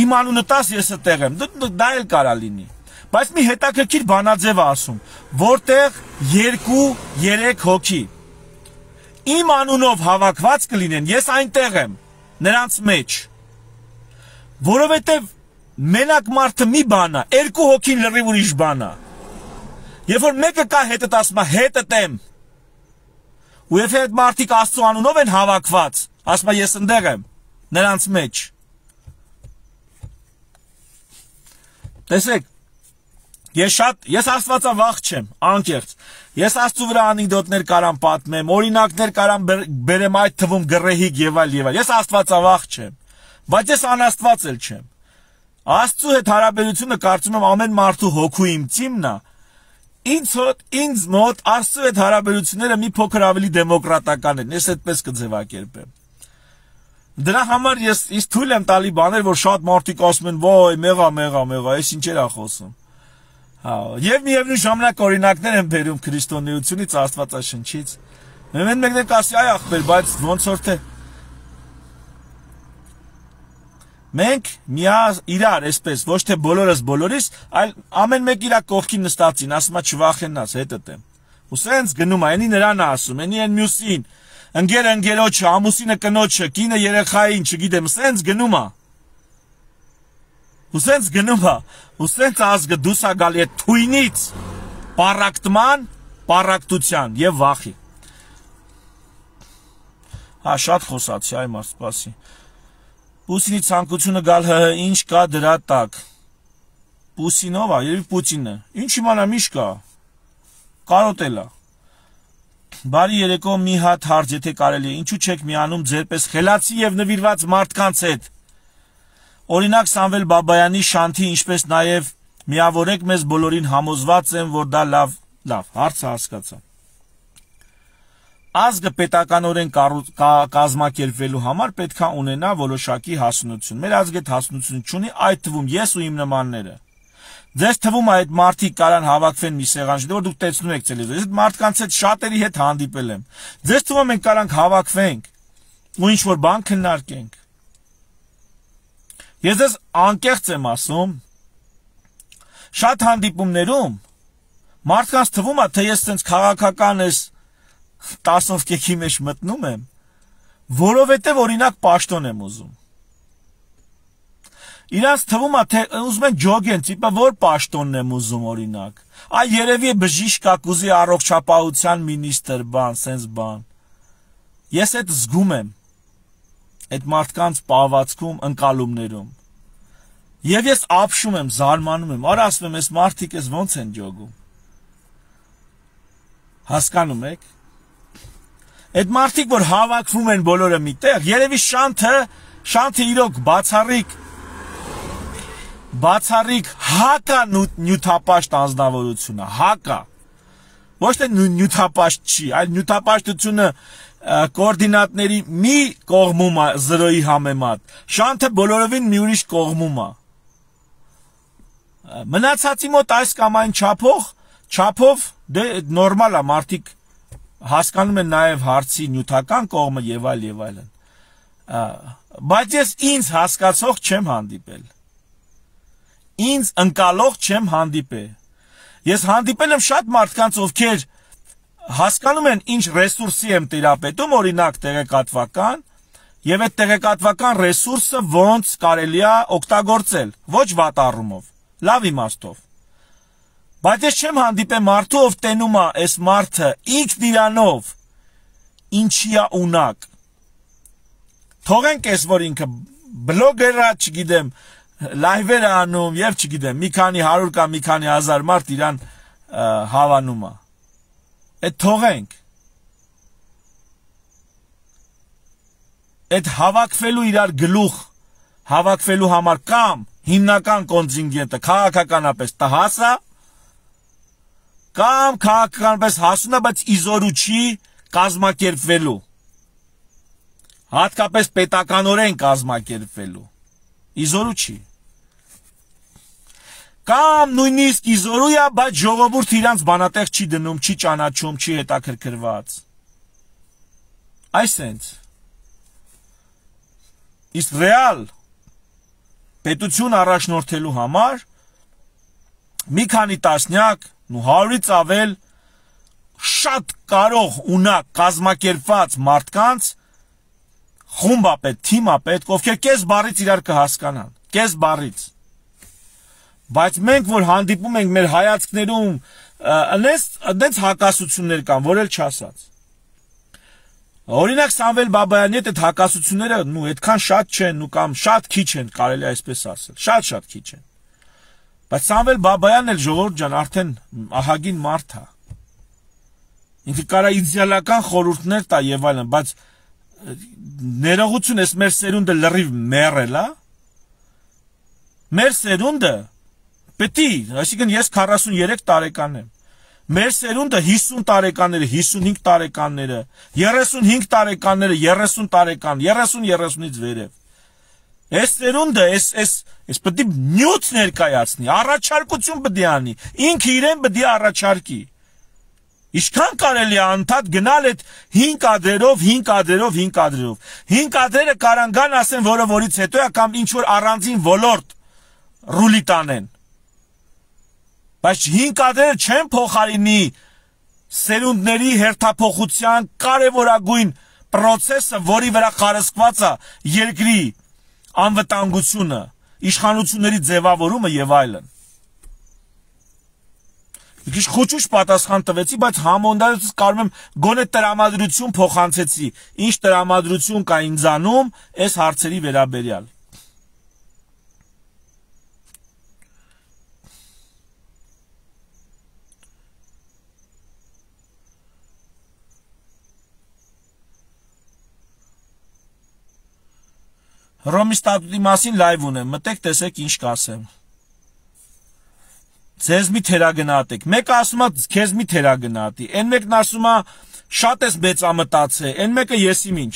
իմ անունը տաս, ես այդտեղ եմ, դա էլ կարա լինի։ Բայց մի հետաքրքիր բանաձև է ասում, որտեղ երկու երեք հոգի իմ անունով հավաքված կլինեն, ես այնտեղ եմ, նրանց մեջ։ Որովհետև մենակ մարդը մի բան է, երկու հոգին լրիվ ուրիշ բան է։ Երբ որ մեկը կա հետդ ասում է հետդ եմ։ Ու եթե այդ մարդիկ Աստծո անունով են հավաքված, ասում է ես ընդեղ եմ, նրանց մեջ։ Տեսեք, ես շատ, ես աստվածավախ չեմ, անկեղծ։ Ես Աստծո վրա անեկդոտներ կարամ պատմեմ, օրինակներ կարամ բերեմ այդ թվում գռեհիկ եւ այլ եւ այլ։ Ես աստվածավախ չեմ, բայց ես անաստված էլ չեմ։ Աստծո հետ հարաբերությունը կարծում եմ ամեն մարդու հոգու իմ ծիմն է։ Ինձ հոտ, ինձ մոտ Աստծո հետ հարաբերությունները մի փոքր ավելի դեմոկրատական են, ես այդպես կձևակերպեմ։ Դրա համար ես ինձ թույլ եմ տալի բաներ, որ շատ մարդիկ ասում են, «Ոյ, մեղա, մեղա, մեղա, այս ինչեր է խոսում»։ Հա, եւ միևնույն ժամանակ օրինակներ են բերում քրիստոնեությունից, Աստվածաշնչից։ Մեն մեկն կասի, այ ախպեր, բայց ոնց որ թե մենք միա իրար այսպես ոչ թե բոլորս բոլորիս, այլ ամեն մեկ իր կողքին նստածին, ասում է չվախենաս, հետդ եմ։ Ու սենց գնում է, այնի նրան է ասում, այնի են մյուսին, ընկերը ընկերոջը, ամուսինը կնոջը, կինը երեխային, չգիտեմ, սենց գնում է։ Ու սենց գնում է, ու սենց ազգը դուրս է գալի այդ թույնից, պարակտման, պարակտության եւ վախի։ Հա, շատ խոսացի, այ մարդ, սպասի։ Պուսինի ցանկությունը գալ ՀՀ ինչ կա դրա տակ։ Պուսինով է, երևի Պուտինը։ Ինչ իմանամ ինչ կա։ Կարոտելա։ Բարի երեկո մի հատ հարց, եթե կարելի է, ինչու չեք միանում ձերպես խելացի եւ նվիրված մարդկանց հետ։ Օրինակ Սամվել Բաբայանի Շանթի, ինչպես նաեւ միավորեք մեզ բոլորին համոզված եմ, որ դա լավ, լավ, հարցը հասկացա։ Ազգը պետականորեն կազմակերպվելու համար պետք է ունենա որոշակի հասունություն։ Մեր ազգը հասունություն չունի, այդ թվում ես ու իմ նմանները։ Ձեզ թվում է այդ մարդիկ կարան հավաքվեն մի սեղան, որ դուք տեսնում եք տելևիզոր։ Այդ մարդկանց հետ շատերի հետ հանդիպել եմ։ Ձեզ թվում է մենք կարանք հավաքվենք ու ինչ որ բան քննարկենք։ Ես ձեզ անկեղծ եմ ասում, շատ հանդիպումներում մարդկանց թվում է, թե ես sense քաղաքական ես տասով կեքի մեջ մտնում եմ, որովհետև օրինակ պաշտոն եմ ուզում։ Իրանց թվում է, թե ուզում են ջոգեն, տիպը որ պաշտոնն եմ ուզում օրինակ։ Այ երևի է բժիշկ կակուզի առողջապահության մինիստր բան, sense բան։ Ես այդ զգում եմ այդ մարդկանց պահվածքում, ընկալումներում։ Եվ ես ապշում եմ, զարմանում եմ, արա ասում եմ, այս մարդիկ էս ոնց են ջոգում։ Հասկանում եք։ Այդ մարդիկ, որ հավաքվում են բոլորը միտեղ, երևի շանթը, շանթը իրոք բացառիկ բացառիկ հակա նյութապաշտ անձնավորությունը, հակա։ Ոչ թե նյութապաշտ չի, այլ նյութապաշտությունը կոորդինատների մի կողմում է զրոյի համեմատ, շանթը բոլորովին մի ուրիշ կողմում է։ Մնացածի մոտ այս կամ այն չափող, չափով դե նորմալ է, մարդիկ հասկանում են նաև հարցի նյութական կողմը եւ այլ եւ այլն։ Բայց ես ինձ հասկացող չեմ հանդիպել։ Ինձ ընկալող չեմ հանդիպել։ Ես հանդիպել եմ շատ մարդկանց, ովքեր հասկանում են ինչ ռեսուրսի եմ տիրապետում, օրինակ տեղեկատվական, եւ այդ տեղեկատվական ռեսուրսը ոնց կարելի է օգտագործել, ոչ վատ առումով, լավ իմաստով։ Բայց ես չեմ հանդիպել մարդու, ով տենում է այս մարդը ինքն իրանով ինչի է ունակ։ Թողենք այս որ ինքը բլոգերա, չգիտեմ, լայվեր է անում եւ չգիտեմ, մի քանի հարյուր կամ մի քանի հազար մարդ իրան հավանում է։ Այդ թողենք։ Այդ հավաքվելու իրար գլուխ հավաքվելու համար կամ հիմնական կոնտինգենտը քաղաքականապես տհասա կամ քաղաքականապես հասունա, բայց իզորու չի կազմակերպվելու։ Հատկապես պետականորեն կազմակերպվելու։ Իզորու չի։ Կամ նույնիսկ իզորու է, բայց ժողովուրդը իրանց բանատեղ չի դնում, չի ճանաչում, չի հետաքրքրված։ Այսենց։ Իսկ ռեալ պետություն առաջնորդելու համար մի քանի տասնյակ, ու հարյուրից ավել շատ կարող ունակ կազմակերպված մարդկանց խումբ է պետք, թիմ է պետք, ովքեր կես բառից իրար կհասկանան, կես բառից։ Բայց մենք, որ հանդիպում ենք մեր հայացքներում, այնպես հակասություններ կան, որ էլ չասած։ Օրինակ Սամվել Բաբայանի հետ այդ հակասությունները, նու այդքան շատ չեն, ու կամ շատ քիչ են, կարելի այսպես ասել, շատ-շատ քիչ են։ Բայց Սամվել Բաբայանն էլ ժողովուրդ ջան արդեն ահագին մարդ է։ Ինքը կարա իդեալական խորհուրդներ տա եւ այլն, բայց ներողություն, էս մեր սերունդը լրիվ մեռել է։ Մեր սերունդը պետք է, այսինքն ես քառասուններեք տարեկան եմ։ Մեր սերունդը հիսուն տարեկանները, հիսունհինգ տարեկանները, երեսունհինգ տարեկանները, երեսուն տարեկան, երեսուն երեսունից վերև։ Այս սերունդը, այս այս այս պետք է նյութ ներկայացնի, առաջարկություն պետք է անի, ինքը իրեն պետք է առաջարկի։ Ինչքան կարելի է անդադ գնալ այդ հինգ կադրերով, հինգ կադրերով, հինգ կադրերով։ Հինգ կադրերը կարան գան ասեն, որը որից հետո է կամ ինչ որ առանձին ոլորտ ռուլի տանեն։ Բայց հինգ կադրերը չեն փոխարինի սերունդների հերթափոխության կարևորագույն process-ը, որի վրա խարսկված է երկրի անվտանգությունը, իշխանությունների ձևավորումը եւ այլն։ Մի քիչ խոճուճ պատասխան տվեցի, բայց համոնդարից կարում եմ գոնե տրամադրություն փոխանցեցի։ Ինչ տրամադրություն կա ինձանում այս հարցերի վերաբերյալ։ Հռոմի ստատուտի մասին լայվ ունեմ, մտեք տեսեք ինչ կասեմ։ Ձեզ մի թերագնահատեք։ Մեկը ասում է քեզ մի թերագնահատի, այն մեկն ասում է շատ ես մեծամտածե, այն մեկը եսիմ ինչ։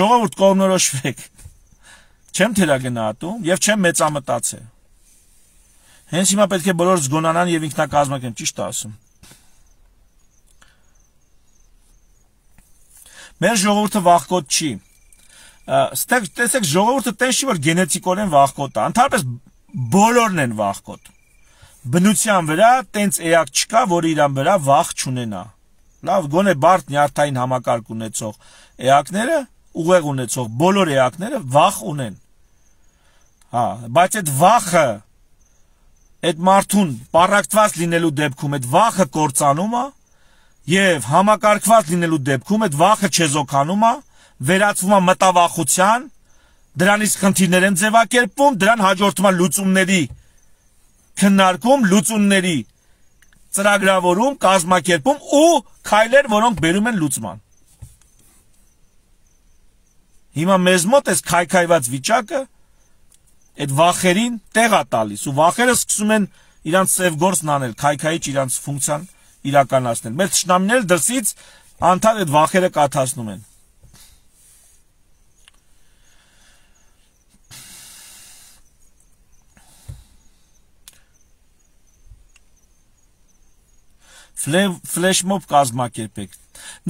Ժողովուրդ կողմնորոշվեք։ Չեմ թերագնահատում եւ չեմ մեծամտածե։ Հենց հիմա պետք է բոլորը զգոնանան եւ ինքնակազմակերպեն, ճիշտ է ասում։ Մեր ժողովուրդը վախկոտ չի։ Ստեղ տեսեք ժողովուրդը տես չի որ գենետիկորեն վախկոտ է, ընդհանրապես բոլորն են վախկոտ։ Բնության վրա տենց էակ չկա, որ իրան վրա վախ չունենա։ Լավ, գոնե բարդ նյարդային համակարգ ունեցող էակները, ուղեղ ունեցող բոլոր էակները վախ ունեն։ Հա, բայց այդ վախը այդ մարդուն պառակտված լինելու դեպքում այդ վախը կործանում է եւ համակարգված լինելու դեպքում այդ վախը չեզոքանում է, վերածվում է մտավախության, դրանից խնդիրներ են ձևակերպվում, դրան հաջորդում է լուծումների քննարկում, լուծումների ծրագրավորում, կազմակերպում ու քայլեր, որոնք բերում են լուծման։ Հիմա մեզ մոտ այս քայքայված վիճակը այդ վախերին տեղ է տալիս ու վախերը սկսում են իրանց սև գործն անել, քայքայիչ իրանց ֆունկցիան իրականացնել։ Մեր թշնամիները դրսից անդադ այդ վախերը կաթացնում են։ Ֆլեշմոբ կազմակերպեք։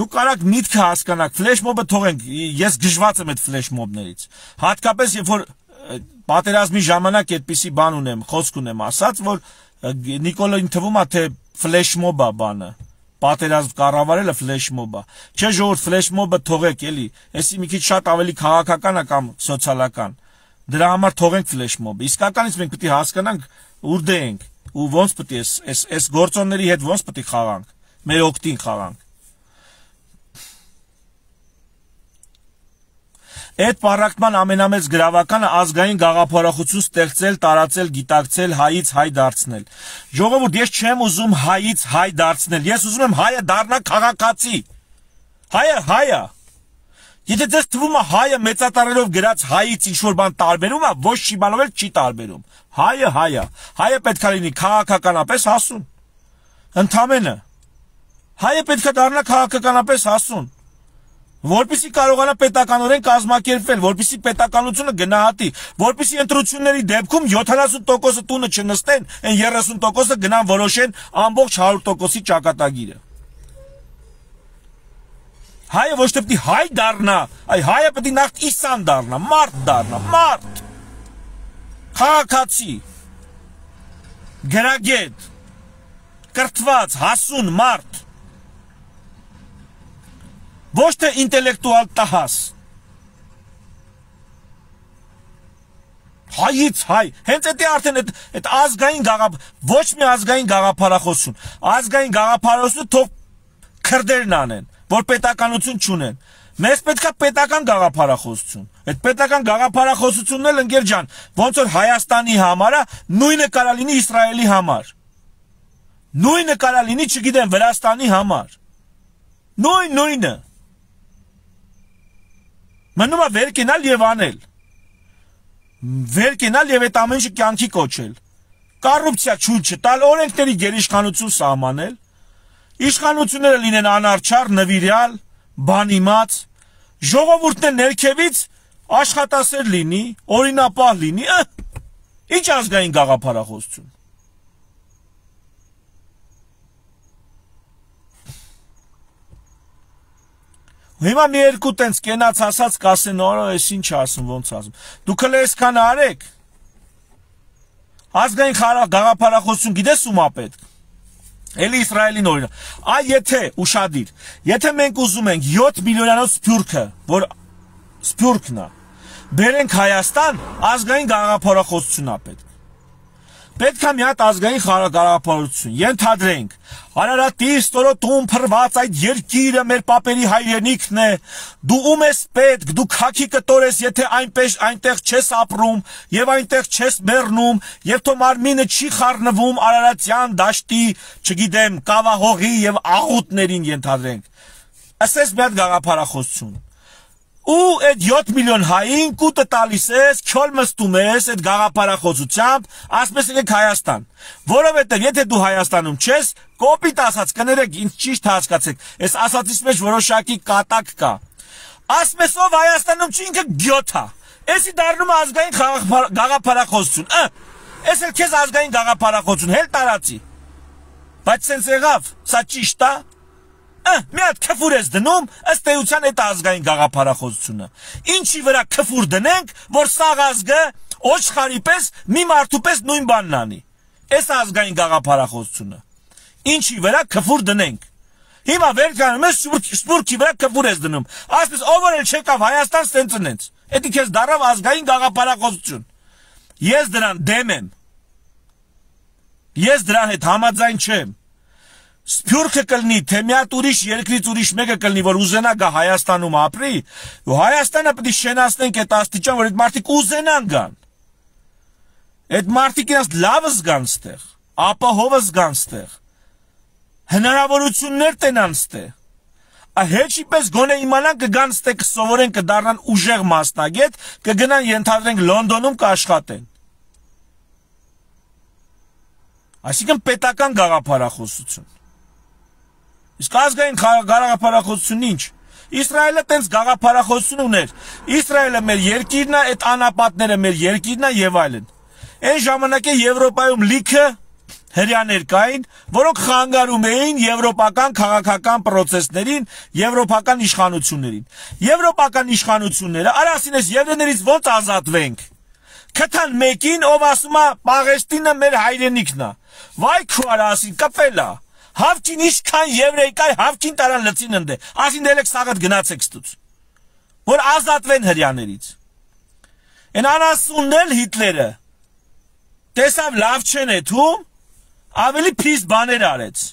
Նու կարաք միտքը հասկանաք, ֆլեշմոբը թողենք, ես գժված եմ այդ ֆլեշմոբներից։ Հատկապես երբ որ պատերազմի ժամանակ այդպիսի բան ունեմ, խոսք ունեմ ասած, որ Նիկոլային թվում է թե ֆլեշմոբ է բանը։ Պատերազմ կառավարելը ֆլեշմոբ է։ Չէ ժողովուրդ ֆլեշմոբը թողեք էլի, էսի մի քիչ շատ ավելի քաղաքական է կամ սոցիալական։ Դրա համար թողենք ֆլեշմոբը։ Իսկականից մենք պետք է հասկանանք ուր դե ենք։ Ու ոնց պետք է այս այս գործոնների հետ ոնց պետք է խաղանք, մեր օգտին խաղանք։ Այդ պառակտման ամենամեծ գրավականը ազգային գաղափարախություն ստեղծել, տարածել, գիտակցել, հայից հայ դարձնել։ Ժողովուրդ, ես չեմ ուզում հայից հայ դարձնել, ես ուզում եմ հայը դառնա քաղաքացի։ Հայը հայը։ Եթե դες թվում է հայը մեծատարելով գրած հայից ինչ-որ բան տարբերում է, ոչ չի բանով էլ չի տարբերում։ Հայը հայը, հայը պետք է լինի քաղաքականապես հասուն։ Ընդամենը։ Հայը պետք է դառնա քաղաքականապես հասուն։ Որպեսզի կարողանա պետականորեն կազմակերպվել, որպեսզի պետականությունը գնահատի, որպեսզի ընտրությունների դեպքում յոթանասուն տոկոսը տունը չնստեն, այն երեսուն տոկոսը գնան որոշեն ամբողջ հարյուր տոկոսի ճակատագիրը։ Հայը ոչ թե պետք է հայ դառնա, այ հայը պետք է նախ իսան դառնա, մարդ դառնա, մարդ, քաղաքացի, գրագետ, կրթված, հասուն մարդ, ոչ թե ինտելեկտուալ տահաս։ Հայից հայ, հենց էդի արդեն այդ ազգային գաղափ, ոչ մի ազգային գաղափարախոսություն, ազգային գաղափարախոսությունը թող քրդերն անեն, որ պետականություն չունեն։ Մեզ պետք է պետական գաղափարախոսություն։ Այդ պետական գաղափարախոսությունն էլ ընկեր ջան, ոնց որ Հայաստանի համար է, նույնը կարա լինի Իսրայելի համար։ Նույնը կարա լինի, չգիտեմ, Վրաստանի համար։ Նույն նույնը։ Մնում է վեր կենալ եւ անել։ Վեր կենալ եւ այդ ամեն ինչը կյանքի կոչել։ Կոռուպցիա չուլ չտալ, օրենքների գերիշխանություն սահմանել։ Իշխանությունները լինեն անարչար, նվիրյալ, բանիմաց, ժողովուրդն է ներքևից աշխատասեր լինի, օրինապահ լինի, ինչ ազգային գաղափարախոսություն։ Հիմա մի երկու տենց կենաց ասած կասեն, օրո, ես ինչ ասում, ոնց ասում։ Դուք էլ այսքան արեք։ Ազգային գաղափարախոսություն գիտես ում է պետք։ Էլի Իսրայելին օրինակ։ Այ եթե ուշադիր, եթե մենք ուզում ենք յոթ միլիոնանոց սփյուռքը, որ սփյուռքն է, բերենք Հայաստան, ազգային գաղափարախոսություն է պետք։ Պետք է մի հատ ազգային գաղափարություն, ենթադրենք, Արարատի ստորոտում փռված այդ երկիրը մեր պապերի հայրենիքն է, դու ում ես պետք, դու քաքի կտոր ես, եթե այնպես այնտեղ չես ապրում եւ այնտեղ չես մեռնում, եւ թո մարմինը չի խառնվում Արարատյան դաշտի, չգիտեմ, կավահողի եւ աղուտներին ենթադրենք։ Ասես մի հատ գաղափարախոսություն։ Ու այդ յոթ միլիոն հային կուտը տալիս ես, քյոլ մստում ես այդ գաղափարախոսությամբ, ասպես եկեք Հայաստան։ Որովհետև եթե դու Հայաստանում չես, կոպիտ ասած կներեք, ինձ ճիշտ հասկացեք, այս ասածից մեջ որոշակի կատակ կա։ Ասմեսով Հայաստանում չի ինքը գյոթ է։ Էսի դառնում ազգային գաղափարախոսություն։ Էս էլ քեզ ազգային գաղափարախոսություն հել տարածի։ Բայց սենց եղավ, սա ճիշտ է։ Մի հատ քֆուր ես դնում, ըստ էության այդ ազգային գաղափարախոսությունը։ Ինչի վրա քֆուր դնենք, որ սաղ ազգը ոչխարի պես մի մարդու պես նույն բանն անի։ Էս ազգային գաղափարախոսությունը։ Ինչի վրա քֆուր դնենք։ Հիմա վեր կանում ես սպուրքի վրա քֆուր ես դնում։ Ասես ով էլ չեկավ Հայաստան սենց ընենց։ Էդի քեզ դարավ ազգային գաղափարախոսություն։ Ես դրան դեմ եմ։ Ես դրան հետ համաձայն չեմ։ Սփյուռքը կլնի, թե մի հատ ուրիշ երկրից ուրիշ մեկը կլնի, որ ուզենա գա Հայաստանում ապրի, ու Հայաստանը պետք է շենացնենք այդ աստիճան, որ այդ մարդիկ ուզենան գան։ Այդ մարդիկ իրաց լավը զգան ստեղ, ապահովը զգան ստեղ, հնարավորություններ տենան ստեղ։ Հեչի պես գոնե իմանան կգան ստեղ կսովորեն, կդառնան ուժեղ մասնագետ, կգնան ենթադրենք Լոնդոնում կաշխատեն։ Այսինքն պետական գաղափարախոսություն։ Իսկ ազգային գաղափարախոսություն ինչ։ Իսրայելը տենց գաղափարախոսություն ուներ։ Իսրայելը մեր երկիրն է, այդ անապատները մեր երկիրն է եւ այլն։ Այն ժամանակ է Եվրոպայում լիքը հրյաներ կային, որոնք խանգարում էին եվրոպական քաղաքական պրոցեսներին, եվրոպական իշխանություններին։ Եվրոպական իշխանությունները արասին էս եվրեներից ոնց ազատվենք։ Քթան մեկին, ով ասում է Պաղեստինը մեր հայրենիքն է։ Վայ քու արասին կպել է։ Հավքին ինչքան եվրեյ կայ, հավքին տարան լծին ընդե։ Ասին դելեք սաղդ գնացեք ստուց։ Որ ազատվեն հրյաներից։ Են անասունն էլ Հիտլերը տեսավ լավ չեն էթում, ավելի փիս բաներ արեց։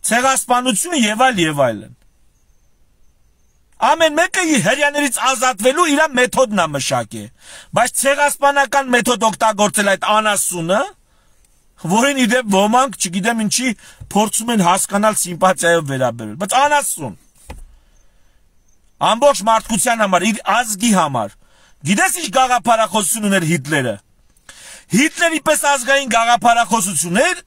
Ցեղասպանություն եւ այլ եւ այլն։ Ամեն մեկը հրյաներից ազատվելու իր մեթոդն է մշակել, բայց ցեղասպանական մեթոդ օգտագործել այդ անասունը, որին իդեպ ոմանք, չգիտեմ ինչի, փորձում են հասկանալ սիմպաթիայով վերաբերել, բայց անասուն։ Ամբողջ մարդկության համար, իր ազգի համար։ Գիտես ինչ գաղափարախոսություն ուներ Հիտլերը։ Հիտլերի պես ազգային գաղափարախոսություններ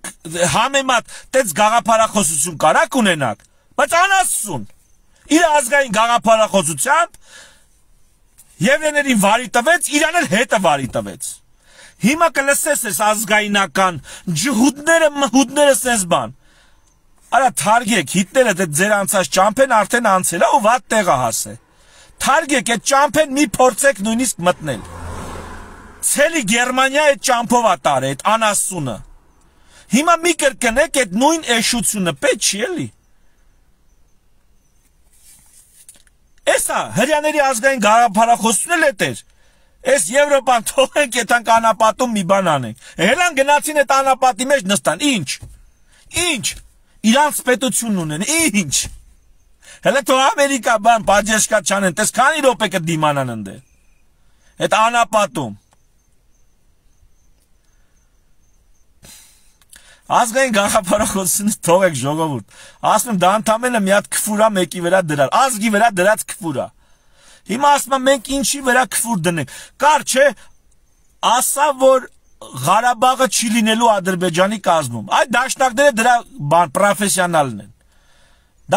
համեմատ տենց գաղափարախոսություն կարակ ունենակ, բայց անասուն։ Իր ազգային գաղափարախոսությամբ եվրեներին վարի տվեց, իրան էլ հետը վարի տվեց։ Հիմա կլսես ես ազգայնական ջհուդները, մհուդները սենց բան։ Արա թարգեք, Հիտլերը դե ձեր անցած ճամփեն արդեն անցել է ու վատ տեղը հասե։ Թարգեք, այդ ճամփեն մի փորձեք նույնիսկ մտնել։ Ցելի Գերմանիա այդ ճամփով է տարել, այդ անասունը։ Հիմա մի կրկնեք այդ նույն էշությունը, պետք չի էլի։ Էսա հրյաների ազգային գաղափարախոսությունն էլ էր։ Էս Եվրոպան թողենք այդանք անապատում մի բան անենք։ Հելան գնացին այդ անապատի մեջ նստան, ինչ։ Ինչ։ Իրանց պետությունն ունեն, ինչ։ Հələ թող Ամերիկա բան բաժեշկա չանեն, տես քանի րոպե կդիմանան ընդ։ Այդ անապատում։ Ազգային գաղափարախոսությունը թողեք ժողովուրդ։ Ասում եմ դա ընդամենը մի հատ քֆուրա մեկի վրա դրալ, ազգի վրա դրած քֆուրա։ Հիմա ասում եմ մենք ինչի վրա քֆուր դնենք։ Կար չէ, ասա որ Ղարաբաղը չի լինելու Ադրբեջանի կազմում։ Այդ դաշնակները դրա բան պրոֆեսիոնալն են։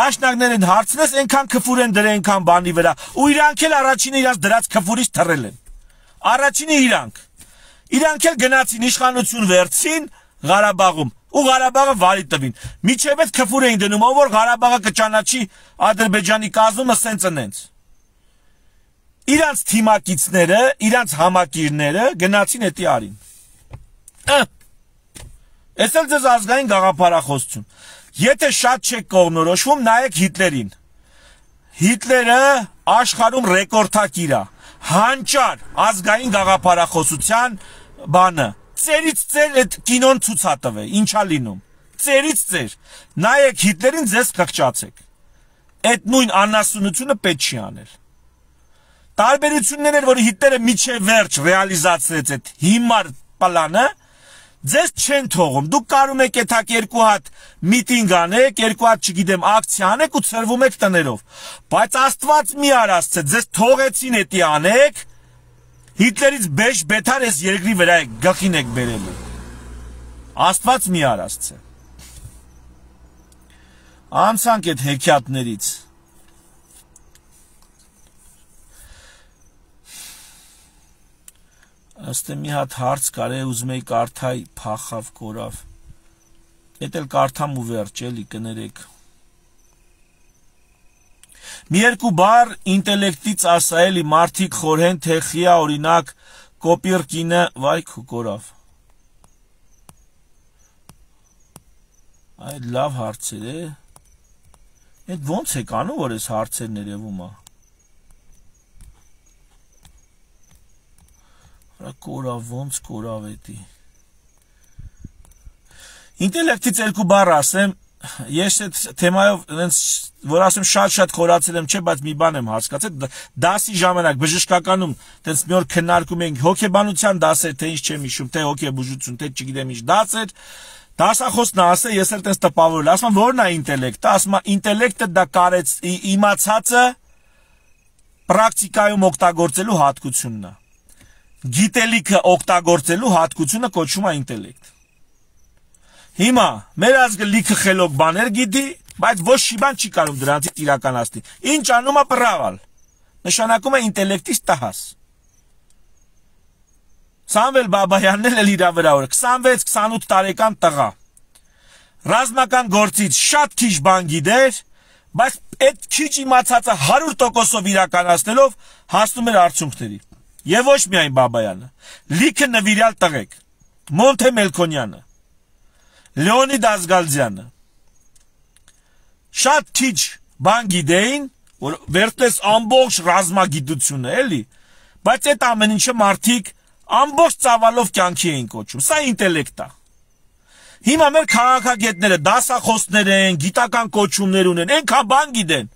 Դաշնակներին հարցնես այնքան քֆուր են դրել այնքան բանի վրա, ու իրանք էլ առաջինը իրանք դրած քֆուրից թռել են։ Առաջինը իրանք։ Իրանք էլ գնացին իշխանություն վերցին Ղարաբաղում, ու Ղարաբաղը վարի տվին։ Միջև այդ քֆուր էին դնում, ով որ Ղարաբաղը կճանաչի Ադրբեջանի կազմումը սենց ընենց։ Իրանց թիմակիցները, իրանց համակիրները գնացին էտի արին։ Էս էլ ձեզ ազգային գաղափարախոսություն։ Եթե շատ չեք կողմնորոշվում, նայեք Հիտլերին։ Հիտլերը աշխարհում ռեկորդակիր է։ Հանճար ազգային գաղափարախոսության բանը։ Ծերից ծեր այդ կինոն ցույց ա տվել, ինչա լինում։ Ծերից ծեր։ Նայեք Հիտլերին, ձեզ կղճացեք։ Այդ նույն անասունությունը պետք չի անել։ Տարբերություններ էր, որ Հիտլերը միջև վերջ ռեալիզացրեց այդ հիմար պլանը, ձեզ չեն թողում։ Դուք կարում եք այդակ երկու հատ միտինգ անեք, երկու հատ, չգիտեմ, ակցիա անեք ու ցրվում եք տներով։ Բայց Աստված մի արածցե, ձեզ թողեցին էդի անեք, Հիտլերից բեշ բեթար ես երկրի վրա եք գլխին եք բերելու։ Աստված մի արածցե։ Անցանք այդ հեքիաթներից։ Ըստ մի հատ հարց կար, ուզում էի կարդայի, փախավ, կորավ։ Էդ էլ կարդամ ու վերջ, էլի կներեք։ Մի երկու բառ ինտելեկտից ասա, էլի մարդիկ խորհեն, թե խիա օրինակ կոպիրկինը, վայ քու կորավ։ Այդ լավ հարցեր է։ Այդ ոնց եք անում, որ այս հարցերն երևում է։ Կորավ, ոնց կորավ էդի։ Ինտելեկտից երկու բառ ասեմ, ես այդ թեմայով, որ ասեմ շատ-շատ խորացել եմ, չէ, բայց մի բան եմ հասկացել, դասի ժամանակ բժշկականում տենց մի օր քննարկում էինք հոգեբանության դասեր, թե ինչ չեմ հիշում, թե հոգեբուժություն, թե չգիտեմ ինչ դասեր, դասախոսն ասել, ես էլ տենց տպավորել, ասում եմ, որն է ինտելեկտը, ասում եմ, ինտելեկտը դա կարեց իմացածը պրակտիկայում օգտագործելու հատկությունն է։ Գիտելիքը օգտագործելու հատկությունը կոչվում է ինտելեկտ։ Հիմա մեր ազգը լիքը խելոք բաներ գիտի, բայց ոչ մի բան չի կարող դրանցից իրականացնել։ Ինչ անում է բրավալ։ Նշանակում է ինտելեկտից տհաս։ Սամվել Բաբայանն էլ իր վրա որ քսանվեց քսանութ տարեկան տղա։ Ռազմական գործից շատ քիչ բան գիտեր, բայց այդ քիչ իմացածը հարյուր տոկոսով իրականացնելով հասնում էր արդյունքների։ Եվ ոչ միայն Բաբայանը, լիքը նվիրյալ տղեկ, Մոնթե Մելքոնյանը, Լեոնիդ Ազգալձյանը, շատ քիչ բան գիտեին, որ վերջնես ամբողջ ռազմագիտությունը, էլի, բայց այդ ամեն ինչը մարդիկ ամբողջ ծավալով կյանքի էին կոչում, սա ինտելեկտ է։ Հիմա մեր քաղաքագետները դասախոսներ են, գիտական կոչումներ ունեն, այնքան բան գիտեն,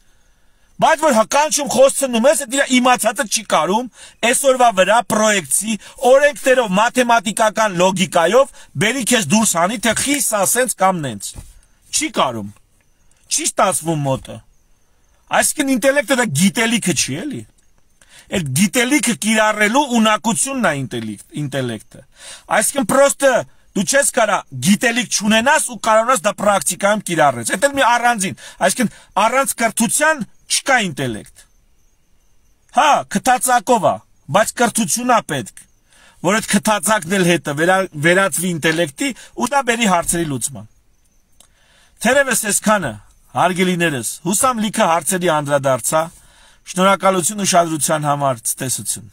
բայց որ հականչում խոսցնում ես, այդ իր իմացածը չի կարում, այսօրվա վրա պրոյեկցի, օրենքներով, մաթեմատիկական լոգիկայով բերի քեզ դուրս հանի, թե խիս ասենց կամ նենց։ Չի կարում, չի ստացվում մոտը։ Այսինքն ինտելեկտը դա գիտելիքը չի, էլի։ Այդ գիտելիքը կիրառելու ունակությունն է ինտելեկտը։ Այսինքն պրոստը դու չես կարա գիտելիք չունենաս ու կարողանաս դա պրակտիկայում կիրառես։ Այդ էլ մի առանձին, այսինքն առանց կրթության չկա ինտելեկտ։ Հա, քթածակով է, բայց կրթություն է պետք, որ այդ քթածակն էլ հետը վերածվի ինտելեկտի ու դա բերի հարցերի լուծման։ Թերևս այսքանը, հարգելիներս, հուսամ լիքը հարցերի անդրադարձա, շնորհակալություն ուշադրության համար, ցտեսություն։